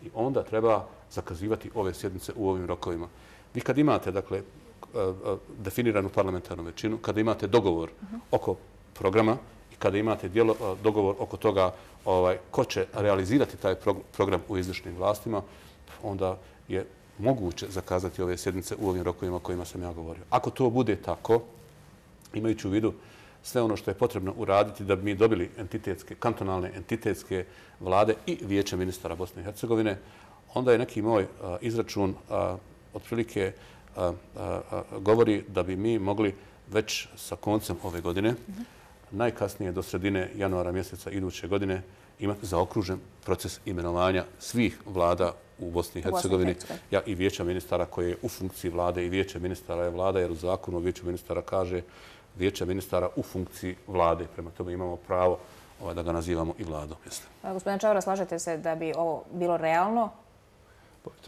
B: I onda treba zakazivati ove sjednice u ovim rokovima. Vi kad imate, dakle, definiranu parlamentarnu većinu, kada imate dogovor oko programa, kada imate dijelo, dogovor oko toga ovaj, ko će realizirati taj program u izvršnim vlastima, onda je moguće zakazati ove sjednice u ovim rokovima o kojima sam ja govorio. Ako to bude tako, imajući u vidu sve ono što je potrebno uraditi da bi mi dobili entitetske, kantonalne entitetske vlade i vijeće ministara Bosne i Hercegovine, onda je neki moj a, izračun a, otprilike a, a, a, govori da bi mi mogli već sa koncem ove godine mm-hmm. najkasnije do sredine januara mjeseca iduće godine imati zaokružen proces imenovanja svih vlada u Bosni i Hercegovini ja, i vijeća ministara koje je u funkciji vlade i vijeće ministara je vlada, jer u zakonu o vijeću ministara kaže vijeća ministara u funkciji vlade. Prema tome imamo pravo ovaj, da ga nazivamo i vladom.
A: Gospodin Čaura, slažete se da bi ovo bilo realno?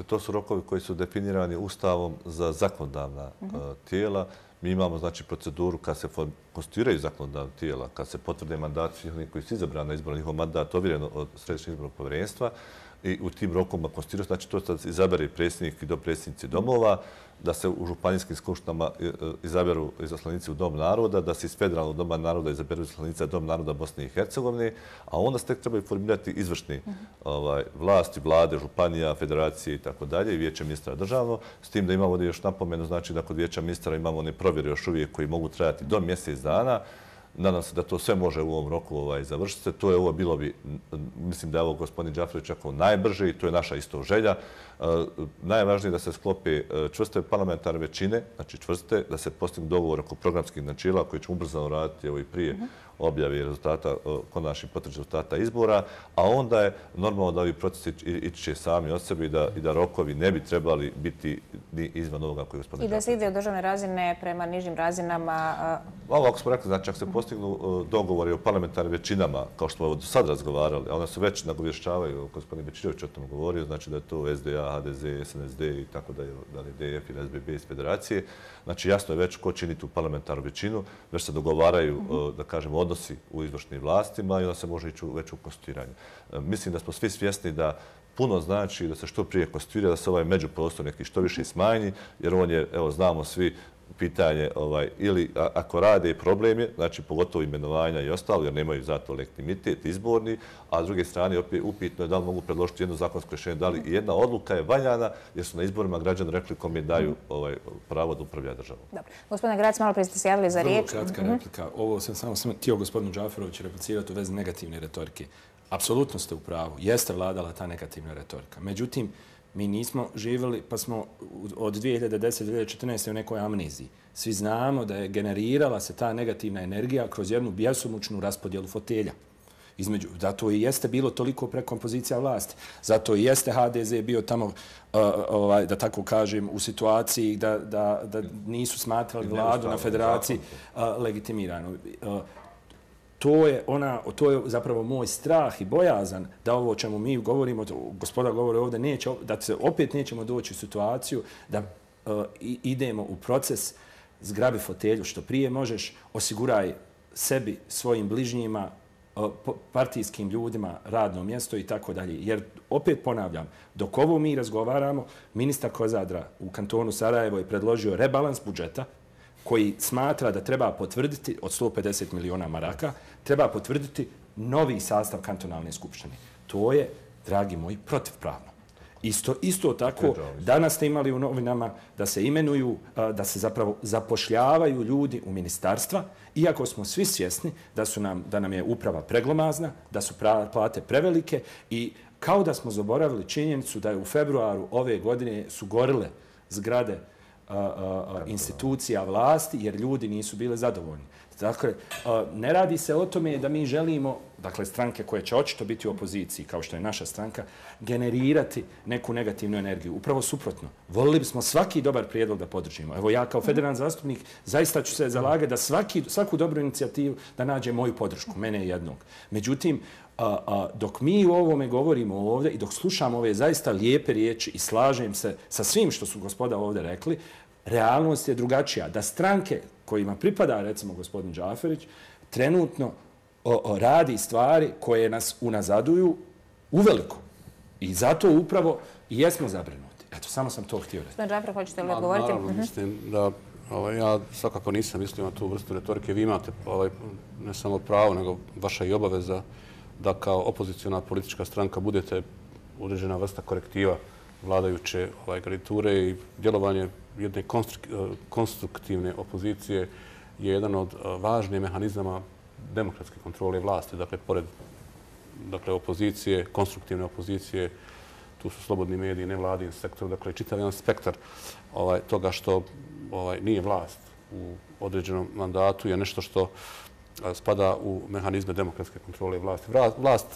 C: To su rokovi koji su definirani Ustavom za zakonodavna uh-huh. tijela. Mi imamo znači, proceduru kad se konstituiraju zakonodavna tijela, kad se potvrde mandati svih onih koji su izabrani na izborni njihov mandat ovjereno od Središnjeg izbornog povjerenstva i u tim rokovima konstituirati. Znači, to sad izabere predsjednik i dopredsjednici domova, da se u županijskim skupštinama izaberu izaslanici u Dom naroda, da se iz federalnog Doma naroda izaberu izaslanici u Dom naroda Bosne i Hercegovine, a onda se tek trebaju formirati izvršni vlasti, vlade, županija, federacije i tako dalje, i vijeće ministra državno. S tim da imamo ovdje još napomenu, znači da kod vijeća ministra imamo one provjere još uvijek koji mogu trajati do mjesec dana. Nadam se da to sve može u ovom roku završiti. To je ovo bilo bi, mislim da je ovo gospodin Džaferović rekao, najbrže i to je naša isto želja. Najvažnije je da se sklope čvrste parlamentarne većine, znači čvrste, da se postignu dogovor oko programskih načela koji ćemo ubrzano raditi evo i prije objave rezultata, konačnih potvrđenih rezultata izbora, a onda je normalno da ovi procesi ići će sami od sebe i da rokovi ne bi trebali biti ni izvan ovoga koji je gospodin Džaferović.
A: I da se ide od državne razine prema nižim razinama?
C: Ovo, ako smo rekli, znači ako se postignu dogovori o parlamentarnim većinama, kao što smo sad razgovarali, a one se već nagovješćavaju, gospodin Bečirović o tom govorio, znači da je to S D A, H D Z, S N S D i tako da je D F ili S B B iz federacije. Znači jasno je već ko čini tu parlamentarnu većinu, već se dogovaraju, da kažemo, odnosi u izvršnim vlastima i onda se može ići već u konstituiranje. Mislim da smo svi svjesni da puno znači da se što prije konstituira, da se ovaj međuprostor neki što više smanji, jer on je, evo, znamo svi, pitanje ili ako rade problem je, znači pogotovo imenovanja i ostalo, jer nemaju zato legitimitet izborni, a s druge strane upitno je da li mogu predložiti jedno zakonsko rješenje, da li jedna odluka je valjana, jer su na izborima građani rekli kome daju pravo da upravlja državom.
A: Dobro. Gospodine Grac, malo prije ste se javili za riječ.
H: Vrlo kratka replika. Ovo sam samo htio gospodinu Džaferoviću replicirati u vezi negativne retorike. Apsolutno ste u pravu. Jeste vladala ta negativna retorika. Međutim, mi nismo živjeli, pa smo od dvije hiljade desete do dvije hiljade četrnaeste u nekoj amneziji. Svi znamo da je generirala se ta negativna energija kroz jednu bjesomučnu raspodjelu fotelja. Između, zato i jeste bilo toliko prekompozicija vlasti. Zato i jeste H D Z bio tamo, uh, ovaj, da tako kažem, u situaciji da, da, da nisu smatrali vladu na federaciji uh, legitimirano. Uh, To je, ona, to je zapravo moj strah i bojazan da ovo o čemu mi govorimo, gospoda govore ovdje, neće, da se opet nećemo doći u situaciju da uh, idemo u proces zgrabi fotelju što prije možeš, osiguraj sebi, svojim bližnjima, uh, partijskim ljudima radno mjesto i tako dalje. Jer opet ponavljam, dok ovo mi razgovaramo, ministar Kozadra u kantonu Sarajevo je predložio rebalans budžeta koji smatra da treba potvrditi od sto pedeset miliona maraka, treba potvrditi novi sastav kantonalne skupštine. To je, dragi moji, protivpravno. Isto, isto tako, danas ste imali u novinama da se imenuju, da se zapravo zapošljavaju ljudi u ministarstva, iako smo svi svjesni da, su nam, da nam je uprava preglomazna, da su plate prevelike i kao da smo zaboravili činjenicu da je u februaru ove godine su gorile zgrade A, a, institucija vlasti, jer ljudi nisu bile zadovoljni. Dakle, a, ne radi se o tome da mi želimo, dakle, stranke koje će očito biti u opoziciji, kao što je naša stranka, generirati neku negativnu energiju. Upravo suprotno. Volili bismo svaki dobar prijedlog da podržimo. Evo, ja kao federalni zastupnik zaista ću se zalagati da svaki, svaku dobru inicijativu da nađe moju podršku, mene jednog. Međutim, A, a, dok mi u ovome govorimo ovdje i dok slušamo ove zaista lijepe riječi i slažem se sa svim što su gospoda ovdje rekli, realnost je drugačija. Da stranke kojima pripada, recimo, gospodin Džaferić, trenutno o, o, radi stvari koje nas unazaduju uveliko. I zato upravo i jesmo zabrinuti. Eto, samo sam to htio reći.
A: Gospodin Džafer, hoćete li odgovoriti?
B: Naravno, mislim da ovaj, ja svakako nisam mislio na tu vrstu retorike. Vi imate ovaj, ne samo pravo, nego vaša i obaveza da kao opozicijona politička stranka budete određena vrsta korektiva vladajuće ovaj, garniture i djelovanje jedne konstruktivne opozicije je jedan od važnijih mehanizama demokratske kontrole vlasti. Dakle, pored dakle, opozicije, konstruktivne opozicije, tu su slobodni mediji, nevladin sektor, dakle, čitav jedan spektar ovaj, toga što ovaj, nije vlast u određenom mandatu je nešto što spada u mehanizme demokratske kontrole vlasti. Vlast,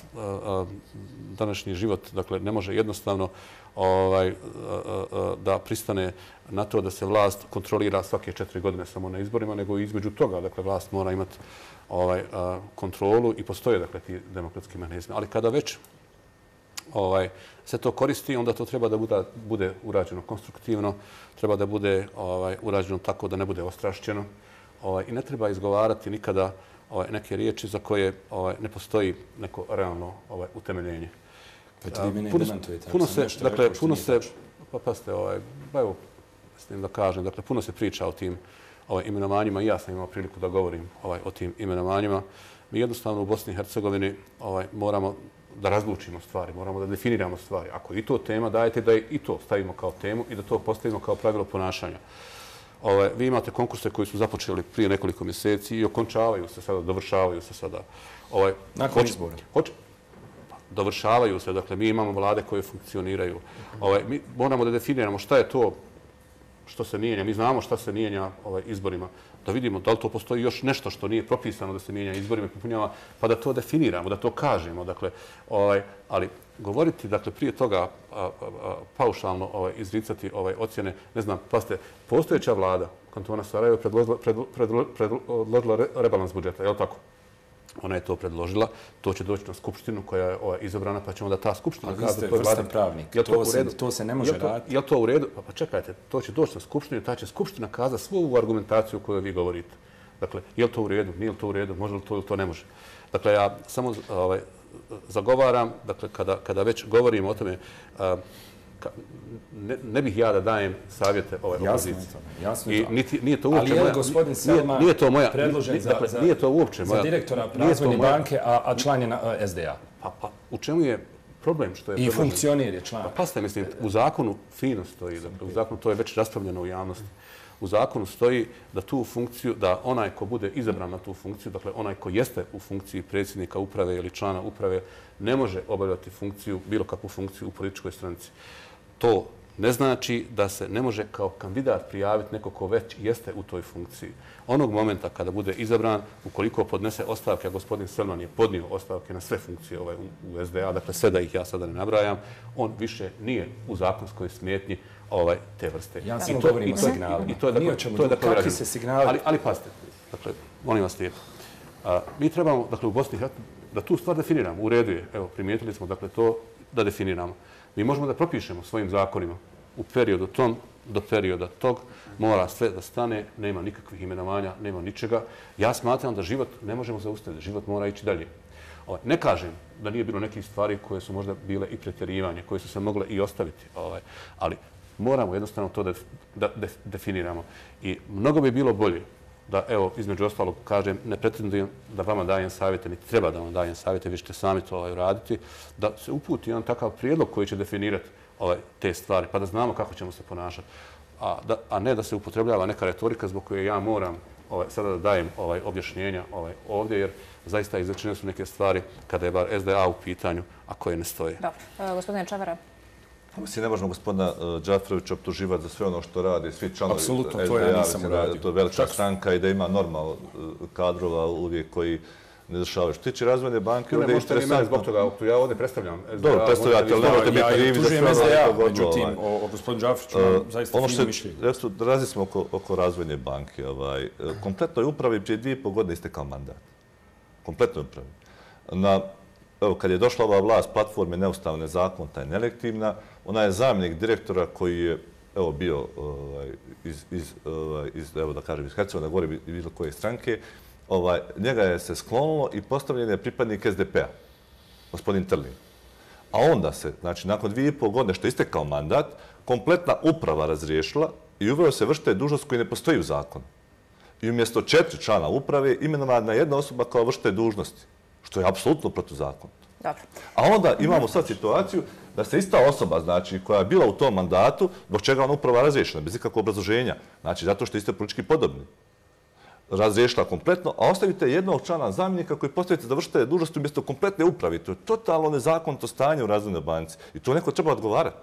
B: današnji život, dakle, ne može jednostavno ovaj, da pristane na to da se vlast kontrolira svake četiri godine samo na izborima, nego između toga, dakle, vlast mora imati ovaj, kontrolu i postoje, dakle, ti demokratski mehanizmi. Ali kada već ovaj, se to koristi, onda to treba da bude, bude urađeno konstruktivno, treba da bude ovaj, urađeno tako da ne bude ostrašćeno. Ovaj, I ne treba izgovarati nikada ovaj, neke riječi za koje ovaj, ne postoji neko realno ovaj, utemeljenje.
H: Pa ti vi mene
B: puno,
H: demantujete.
B: puno
H: ako sam
B: se,
H: nešto
B: dakle,
H: rekao što
B: puno
H: nije
B: se,
H: tačno.
B: pa pasite, ovaj, pa evo, mislim da kažem, dakle, puno se priča o tim ovaj, imenovanjima i ja sam imao priliku da govorim ovaj, o tim imenovanjima. Mi jednostavno u Bosni i Hercegovini ovaj, moramo da razlučimo stvari, moramo da definiramo stvari. Ako i to tema, dajte da i to stavimo kao temu i da to postavimo kao pravilo ponašanja. Ove, vi imate konkurse koji su započeli prije nekoliko mjeseci i okončavaju se sada, dovršavaju se sada. Ove,
H: Nakon
B: hoće,
H: izbora.
B: Hoće, dovršavaju se, dakle, mi imamo vlade koje funkcioniraju. Ove, mi moramo da definiramo šta je to što se mijenja. Mi znamo šta se mijenja ovaj, izborima. Da vidimo da li to postoji još nešto što nije propisano da se mijenja izborima i popunjava, pa da to definiramo, da to kažemo. Dakle, ovaj, ali govoriti, dakle, prije toga a, a, a, paušalno ovaj, izricati ovaj, ocjene, ne znam, pasite, postojeća vlada kantona Sarajevo predložila, predložila, predložila rebalans budžeta, je li tako? Ona je to predložila, to će doći na skupštinu koja je ovaj, izabrana, pa će onda ta skupština...
H: Ali vi ste vrstan pravnik,
B: to,
H: to, se, to se ne može raditi.
B: Je li to u redu? Pa, pa čekajte, to će doći na skupštinu i ta će skupština kazati svu ovu argumentaciju koju vi govorite. Dakle, je li to u redu, nije li to u redu, može li to ili to ne može. Dakle, ja samo ovaj, zagovaram, dakle, kada, kada već govorimo o tome, a, ka, ne, ne bih ja da dajem savjete ovaj opoziciji.
H: Jasno je to. Jasno
B: I niti, nije to uopće
H: ali je
B: moja,
H: gospodin Selma
B: nije, nije to moja,
H: predložen
B: nije,
H: za,
B: dakle,
H: za,
B: nije to uopće moja,
H: za direktora razvojne
B: moja,
H: banke, a, a član je na S D A?
B: Pa, pa, u čemu je problem što je
H: I
B: predložen?
H: funkcioner je član.
B: Pa pasite, mislim, u zakonu fino stoji, dakle, u zakonu to je već raspravljeno u javnosti. U zakonu stoji da tu funkciju, da onaj ko bude izabran na tu funkciju, dakle onaj ko jeste u funkciji predsjednika uprave ili člana uprave, ne može obavljati funkciju, bilo kakvu funkciju u političkoj stranici. To ne znači da se ne može kao kandidat prijaviti neko ko već jeste u toj funkciji. Onog momenta kada bude izabran, ukoliko podnese ostavke, a gospodin Selman je podnio ostavke na sve funkcije ovaj, u S D A, dakle sve da ih ja sada ne nabrajam, on više nije u zakonskoj smetnji ovaj, te vrste.
H: Ja samo govorim o signalima.
B: I to je dakle, to je dakle
H: kakvi se signali...
B: Ali, ali pazite, dakle, molim vas lijepo. A, mi trebamo, dakle, u Bosni da tu stvar definiramo. U redu je, evo, primijetili smo, dakle, to da definiramo. Mi možemo da propišemo svojim zakonima u periodu tom do perioda tog, mora sve da stane, nema nikakvih imenovanja, nema ničega. Ja smatram da život ne možemo zaustaviti, život mora ići dalje. Ovaj, ne kažem da nije bilo nekih stvari koje su možda bile i pretjerivanje, koje su se mogle i ostaviti, ovaj, ali moramo jednostavno to da, da def, definiramo. I mnogo bi bilo bolje da, evo, između ostalog, kažem, ne pretendujem da vama dajem savjete, niti treba da vam dajem savjete, vi ćete sami to ovaj, uraditi, da se uputi jedan takav prijedlog koji će definirati ovaj, te stvari, pa da znamo kako ćemo se ponašati. A, da, a ne da se upotrebljava neka retorika zbog koje ja moram ovaj, sada da dajem ovaj, objašnjenja ovaj, ovdje, jer zaista izrečene su neke stvari kada je bar S D A u pitanju, a koje ne stoje.
A: Dobro. Gospodine Čavara.
C: Mislim, ne možemo gospodina Džaferovića optuživati za sve ono što radi, svi članovi S D A.
H: Apsolutno, to ja nisam uradio.
C: To je velika stranka i da ima normal kadrova uvijek koji ne dešavaju. Što tiče razvojne banke,
B: ovdje je interesantno. Ne, možete zbog toga, ja ovdje predstavljam S D A.
C: Dobro, predstavljate, ali nemojte biti krivi za sve ono što je godilo.
H: Međutim, o gospodinu Džaferoviću imam zaista fino mišljenje.
C: Razli smo oko razvojne banke. Kompletnoj upravi prije dvije i pol godine istekao mandat. Kompletnoj upravi. Evo, kad je došla ova vlast platforme neustavne zakonita i nelektivna, ona je zamjenik direktora koji je evo, bio ovaj, iz, iz, ovaj, iz, evo da kažem, iz Hercegovine, govori i bilo koje stranke, ovaj, njega je se sklonilo i postavljen je pripadnik S D P-a, gospodin Trlin. A onda se, znači, nakon dvije i pol godine što je istekao mandat, kompletna uprava razriješila i uveo se vršitelj dužnost koji ne postoji u zakonu. I umjesto četiri člana uprave imenovana jedna osoba kao vršitelj dužnosti, što je apsolutno protuzakonito.
A: Dobro.
C: A onda imamo sad situaciju da se ista osoba, znači, koja je bila u tom mandatu, zbog čega ona uprava razriješena, bez ikakvog obrazloženja, znači, zato što ste politički podobni, razriješila kompletno, a ostavite jednog člana zamjenika koji postavite da vršite dužnosti umjesto kompletne uprave. To je totalno nezakonito stanje u razvojnoj banci i to neko treba odgovarati.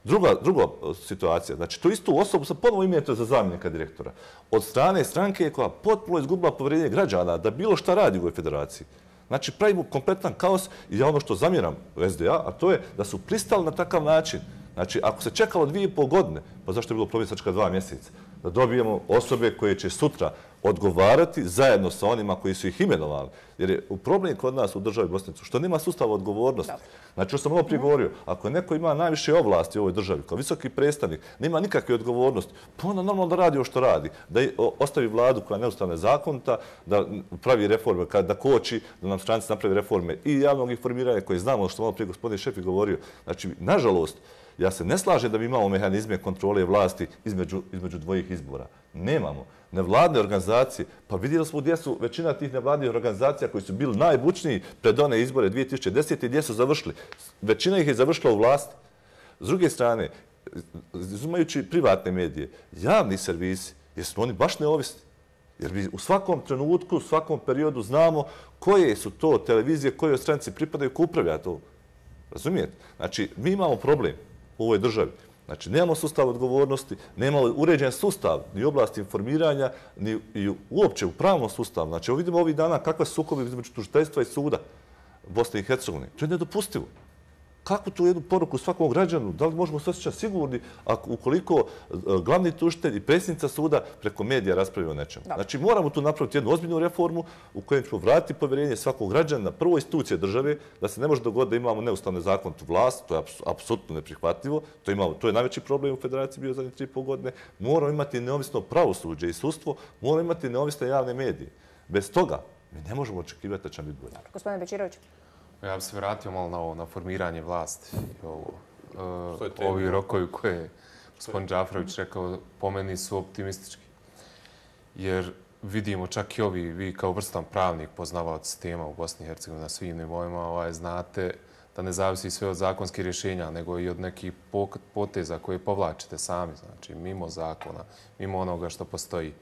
C: Druga, druga situacija, znači, tu istu osobu sad ponovo imenujete za zamjenika direktora od strane stranke koja potpuno izgubila povjerenje građana da bilo šta radi u ovoj federaciji. Znači, pravimo kompletan kaos i ja ono što zamjeram u S D A, a to je da su pristali na takav način. Znači, ako se čekalo dvije i pol godine, pa zašto je bilo problem sačka dva mjeseca? Da dobijemo osobe koje će sutra odgovarati zajedno sa onima koji su ih imenovali. Jer je problem kod nas u državi Bosnicu što nema sustava odgovornosti. Znači, što sam ovo prigovorio, ako neko ima najviše ovlasti u ovoj državi, kao visoki predstavnik, nema nikakve odgovornosti, pa onda normalno da radi ovo što radi. Da ostavi vladu koja je neustavna zakonita, da pravi reforme, da koči, da nam stranci napravi reforme i javnog informiranja koje znamo, što malo prije gospodin Šefik govorio. Znači, nažalost, ja se ne slažem da bi imamo mehanizme kontrole vlasti između, između dvojih izbora. Nemamo. Nevladne organizacije, pa vidjeli smo gdje su većina tih nevladnih organizacija koji su bili najbučniji pred one izbore dvije tisuće desete. gdje su završili. Većina ih je završila u vlasti. S druge strane, izumajući privatne medije, javni servisi, jer smo oni baš neovisni. Jer mi u svakom trenutku, u svakom periodu znamo koje su to televizije, koje stranici pripadaju, ko upravlja to. Razumijete? Znači, mi imamo problem u ovoj državi. Znači, nemamo sustav odgovornosti, nemamo uređen sustav ni u oblasti informiranja, ni uopće u pravnom sustavu. Znači, vidimo ovih dana kakve su sukobi između tužiteljstva i suda Bosne i Hercegovine. To je nedopustivo. Kakvu tu jednu poruku svakom građanu? Da li možemo se osjećati sigurni ukoliko glavni tužitelj i predsjednica suda preko medija raspravljaju o nečemu? Znači, moramo tu napraviti jednu ozbiljnu reformu u kojem ćemo vratiti povjerenje svakog građana na prvo institucije države, da se ne može dogoditi da imamo neustavnu zakonitu vlast, to je apsolutno neprihvatljivo, to je najveći problem u Federaciji bio zadnje tri i pol godine. Moramo imati neovisno pravosuđe i sudstvo, moramo imati neovisne javne medije. Bez toga mi ne možemo očekivati da će biti bolje.
A: Gospodine Bečirović.
G: Ja bih se vratio malo na ovo, na formiranje vlasti. Ovi rokovi koje je gospodin Džaferović rekao, po meni su optimistički. Jer vidimo čak i ovi, vi kao vrstan pravnik, poznavaoci tema u Bosni i Hercegovini na svim nivoima, znate da ne zavisi sve od zakonskih rješenja, nego i od nekih poteza koje povlačite sami, znači mimo zakona, mimo onoga što postoji.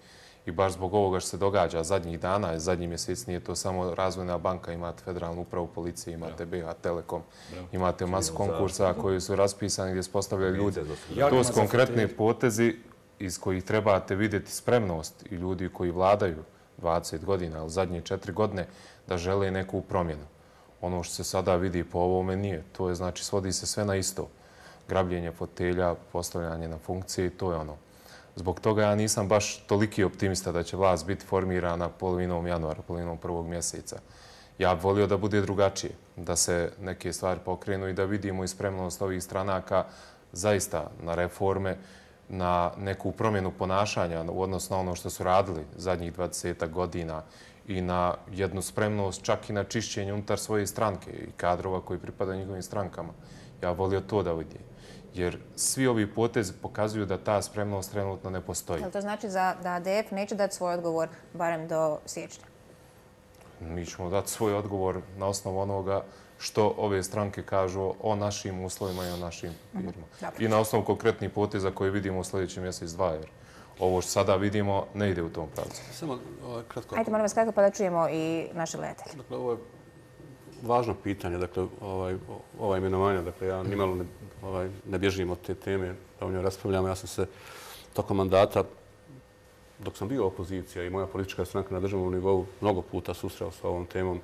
G: I baš zbog ovoga što se događa zadnjih dana, zadnjih mjeseci, nije to samo Razvojna banka, imate Federalnu upravu policije, imate B H Telekom, imate masu konkursa koji su raspisani gdje se postavljaju ljudi. To su konkretni potezi iz kojih trebate vidjeti spremnost i ljudi koji vladaju dvadeset godina, ali zadnje četiri godine, da žele neku promjenu. Ono što se sada vidi po ovome nije. To je, znači, svodi se sve na isto. Grabljenje fotelja, postavljanje na funkcije i to je ono. Zbog toga ja nisam baš toliki optimista da će vlast biti formirana polovinom januara, polovinom prvog mjeseca. Ja bih volio da bude drugačije, da se neke stvari pokrenu i da vidimo i spremnost ovih stranaka zaista na reforme, na neku promjenu ponašanja u odnosu na ono što su radili zadnjih dvadeset godina i na jednu spremnost čak i na čišćenje unutar svoje stranke i kadrova koji pripadaju njihovim strankama. Ja bih volio to da vidim. Jer svi ovi potezi pokazuju da ta spremnost trenutno ne postoji.
A: To znači da A D F neće dati svoj odgovor barem do siječnja?
G: Mi ćemo dati svoj odgovor na osnovu onoga što ove stranke kažu o našim uslovima i o našim firmama. I na osnovu konkretnih poteza koje vidimo u sljedeći mjesec dva, jer ovo što sada vidimo ne ide u tom pravcu.
B: Samo kratko.
A: Ajde, moram vas kratko pa da čujemo i naše gledatelje.
B: Dakle, ovo je važno pitanje, dakle, ova imenovanja, dakle, ja nimalo ne bježim od te teme, da o njoj raspravljamo. Ja sam se tokom mandata, dok sam bio opozicija i moja politička stranka na državnom nivou, mnogo puta susreo sa ovom temom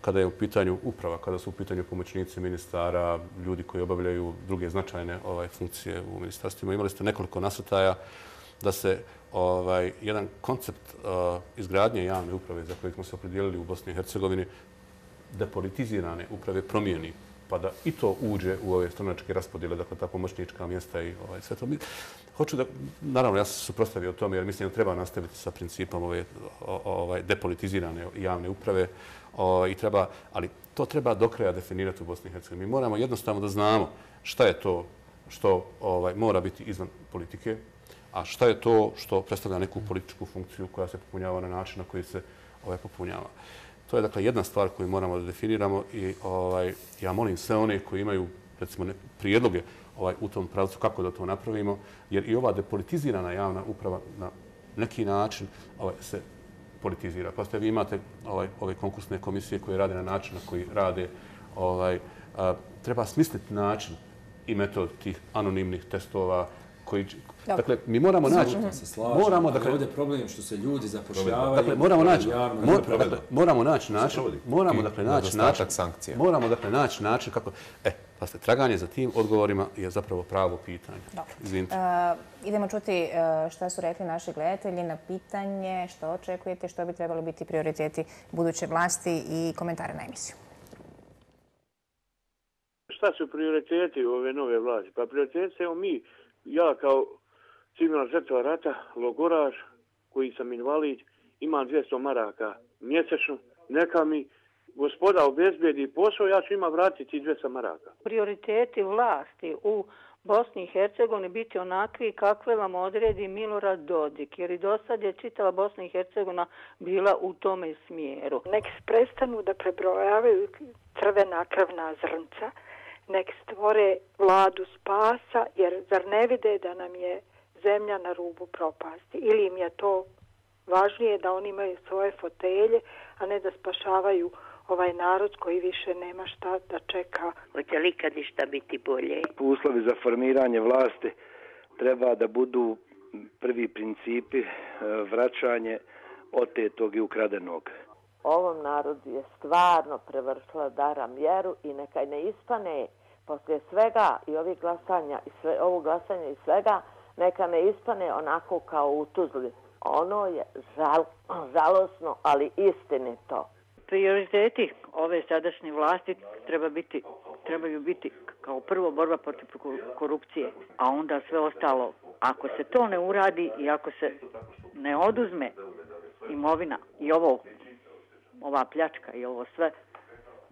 B: kada je u pitanju uprava, kada su u pitanju pomoćnici ministara, ljudi koji obavljaju druge značajne funkcije u ministarstvima. Imali ste nekoliko nasrtaja da se jedan koncept izgradnje javne uprave za koje smo se opredijelili u Bosni i Hercegovini depolitizirane uprave promijeni, pa da i to uđe u ove stranačke raspodjele, dakle ta pomoćnička mjesta i sve to. Hoću da, naravno, ja sam se suprotstavio tome jer mislim da treba nastaviti sa principom ove depolitizirane javne uprave, ali to treba do kraja definirati u Bosni i Hercegovini. Mi moramo jednostavno da znamo šta je to što mora biti izvan politike, a šta je to što predstavlja neku političku funkciju koja se popunjava na način na koji se popunjava. To je, dakle, jedna stvar koju moramo da definiramo i ja molim sve one koji imaju, recimo, prijedloge u tom pravcu kako da to napravimo, jer i ova depolitizirana javna uprava na neki način se politizira. Pa ste vi imate ove konkursne komisije koje rade na način na koji rade. Treba smisliti način i metod tih anonimnih testova, koji... Dakle, mi moramo naći...
H: Moramo, dakle, ovdje je problem što se ljudi zapošljavaju.
B: Dakle, moramo naći... Moramo naći način... Moramo, dakle, naći način...
G: sankcija.
B: Moramo, dakle, naći način kako... E, pa ste, traganje za tim odgovorima je zapravo pravo pitanje. Izvinite.
A: Idemo čuti šta su rekli naši gledatelji na pitanje što očekujete, što bi trebalo biti prioriteti buduće vlasti i komentare na emisiju.
I: Šta su prioriteti ove nove vlasti? Pa prioriteti, evo mi, ja kao civilna žrtva rata, logoraš, koji sam invalid, imam dvjesto maraka mjesečno, neka mi gospoda obezbedi posao, ja ću ima vratiti dvjesto maraka.
J: Prioriteti vlasti u Bosni i Hercegovini biti onakvi kakve vam odredi Milorad Dodik, jer i do sad je čitava Bosna i Hercegovina bila u tome smjeru.
K: Nek prestanu da prebrojavaju crvena krvna zrnca, nek stvore vladu spasa, jer zar ne vide da nam je zemlja na rubu propasti? Ili im je to važnije da oni imaju svoje fotelje, a ne da spašavaju ovaj narod koji više nema šta da čeka.
L: Hoće li kad išta biti bolje?
M: Uslovi za formiranje vlasti treba da budu prvi principi vraćanje otetog i ukradenog.
L: Ovom narodu je stvarno prevršila dara mjeru i neka ne ispane poslije svega i ovih glasanja i sve, ovog glasanja i svega, neka ne ispane onako kao u Tuzli. Ono je žal, žalosno, ali istinito.
J: Prioriteti ove sadašnje vlasti treba biti, trebaju biti kao prvo borba protiv korupcije, a onda sve ostalo. Ako se to ne uradi i ako se ne oduzme imovina i ovo, ova pljačka i ovo sve,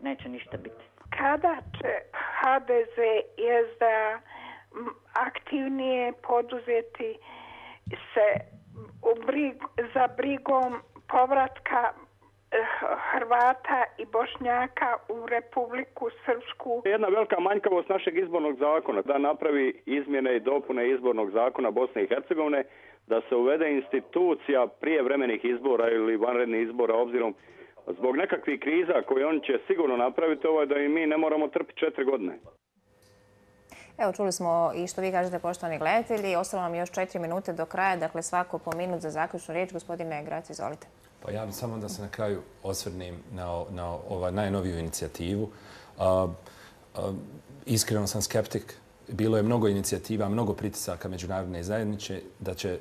J: neće ništa biti.
K: Kada će ha de ze i es de a aktivnije poduzeti se brig, za brigom povratka Hrvata i Bošnjaka u Republiku Srpsku?
I: Jedna velika manjkavost našeg izbornog zakona da napravi izmjene i dopune izbornog zakona Bosne i Hercegovine, da se uvede institucija prijevremenih izbora ili vanrednih izbora, obzirom zbog nekakvih kriza koje on će sigurno napraviti, ovo je da i mi ne moramo trpiti četiri godine.
A: Evo, čuli smo i što vi kažete, poštovani gledatelji. Ostalo nam još četiri minute do kraja, dakle svako po minut za zaključnu riječ. Gospodine Grac, izvolite.
H: Pa ja bih samo da se na kraju osvrnem na, na ovaj najnoviju inicijativu. A, a, iskreno sam skeptik. Bilo je mnogo inicijativa, mnogo pritisaka međunarodne zajednice da će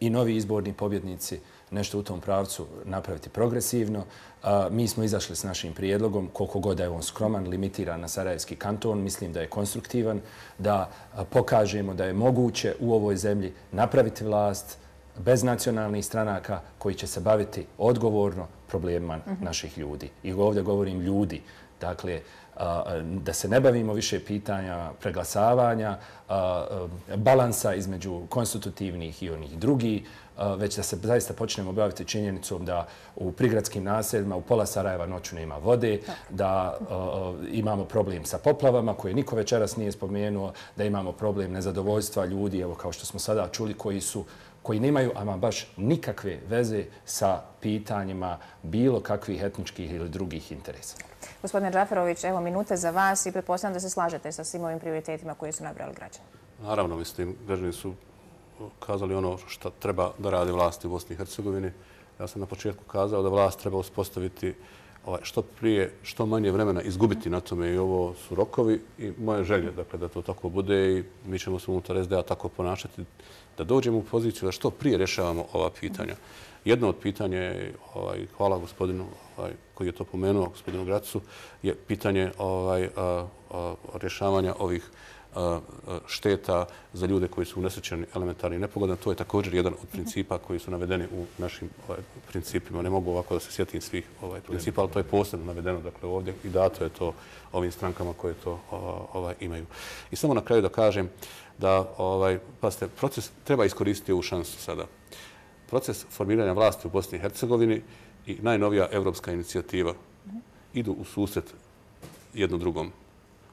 H: i novi izborni pobjednici nešto u tom pravcu napraviti progresivno. A, mi smo izašli s našim prijedlogom, koliko god je on skroman, limitiran na Sarajevski kanton. Mislim da je konstruktivan, da a, pokažemo da je moguće u ovoj zemlji napraviti vlast bez nacionalnih stranaka koji će se baviti odgovorno problemima mm-hmm. naših ljudi. I ovdje govorim ljudi. Dakle, da se ne bavimo više pitanja preglasavanja, balansa između konstitutivnih i onih drugih, već da se zaista počnemo baviti činjenicom da u prigradskim naseljima u pola Sarajeva noću nema vode, da imamo problem sa poplavama koje niko večeras nije spomenuo, da imamo problem nezadovoljstva ljudi, evo kao što smo sada čuli, koji su koji nemaju ama baš nikakve veze sa pitanjima bilo kakvih etničkih ili drugih interesa.
A: Gospodine Džaferović, evo minute za vas i pretpostavljam da se slažete sa svim ovim prioritetima koji su nabrali građani.
B: Naravno, mislim, građani su kazali ono što treba da radi vlasti u Bosni i Hercegovini. Ja sam na početku kazao da vlast treba uspostaviti što prije, što manje vremena izgubiti na tome i ovo su rokovi i moje želje, dakle, da to tako bude i mi ćemo se unutar es de a tako ponašati da dođemo u poziciju da što prije rješavamo ova pitanja. Jedno od pitanja je, ovaj, hvala gospodinu ovaj, koji je to pomenuo, gospodinu Gracu, je pitanje ovaj, a, a, rješavanja ovih a, a, šteta za ljude koji su unesrećeni elementarnim nepogodama. To je također jedan od principa koji su navedeni u našim ovaj, principima. Ne mogu ovako da se sjetim svih ovaj, principa, ali to je posebno navedeno dakle, ovdje i dato je to ovim strankama koje to ovaj, imaju. I samo na kraju da kažem da ovaj, pasite, proces treba iskoristiti ovu šansu sada. Proces formiranja vlasti u Bosni i Hercegovini i najnovija evropska inicijativa idu u susret jedno drugom.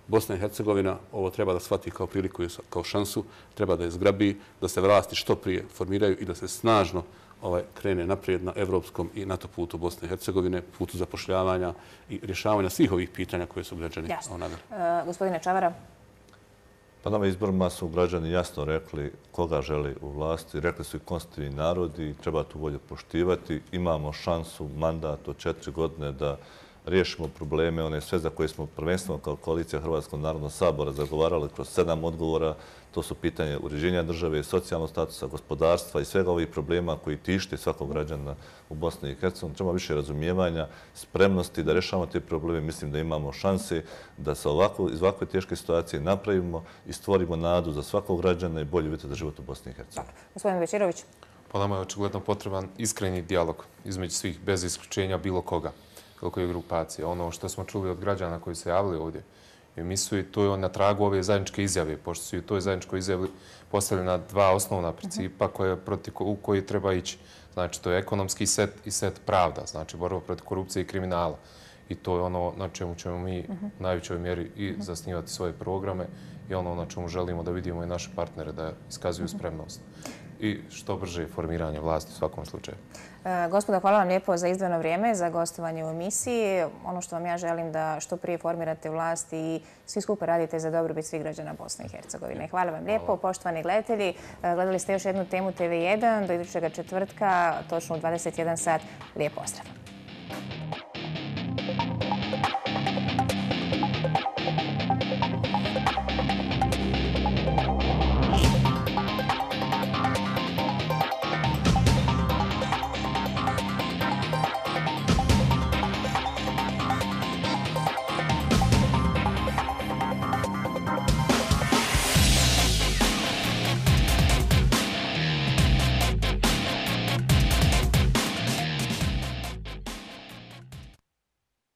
B: Bosna i Hercegovina ovo treba da shvati kao priliku i kao šansu, treba da je zgrabi, da se vlasti što prije formiraju i da se snažno ovaj, krene naprijed na evropskom i NATO putu Bosne i Hercegovine, putu zapošljavanja i rješavanja svih ovih pitanja koje su građani naveli.
A: Uh, gospodine Čavara.
C: Pa na ovim izborima su građani jasno rekli koga želi u vlasti. Rekli su i konstitutivni narodi i treba tu volju poštivati. Imamo šansu, mandat od četiri godine da riješimo probleme, one sve za koje smo prvenstveno kao koalicija Hrvatskog narodnog sabora zagovarali kroz sedam odgovora. To su pitanje uređenja države, socijalnog statusa, gospodarstva i svega ovih problema koji tište svakog građana u Bosni i Hercegovini. Treba više razumijevanja, spremnosti da rješavamo te probleme. Mislim da imamo šanse da se ovako, iz ovakve teške situacije napravimo i stvorimo nadu za svakog građana i bolje uvjete za život u Bosni i Hercegovini.
A: Gospodin Bečirović.
G: Po nama je očigledno potreban iskreni dijalog između svih, bez isključenja bilo koga, bilo koje grupacije. Ono što smo čuli od građana koji se javili ovdje u emisiju, to je na tragu ove zajedničke izjave, pošto su i u toj zajedničkoj izjavi postavljena dva osnovna principa koje, protiv, u koji treba ići. Znači, to je ekonomski set i set pravda, znači borba protiv korupcije i kriminala. I to je ono na čemu ćemo mi u najvećoj mjeri i zasnivati svoje programe i ono na čemu želimo da vidimo i naše partnere da iskazuju spremnost. I što brže formiranje vlasti u svakom slučaju.
A: Gospodo, hvala vam lijepo za izdvojeno vrijeme, za gostovanje u emisiji. Ono što vam ja želim da što prije formirate vlast i svi skupa radite za dobrobit svih građana Bosne i Hercegovine. Hvala vam lijepo. Poštovani gledatelji, gledali ste još jednu temu T V jedan do idućeg četvrtka, točno u dvadeset jedan sat. Lijep pozdrav.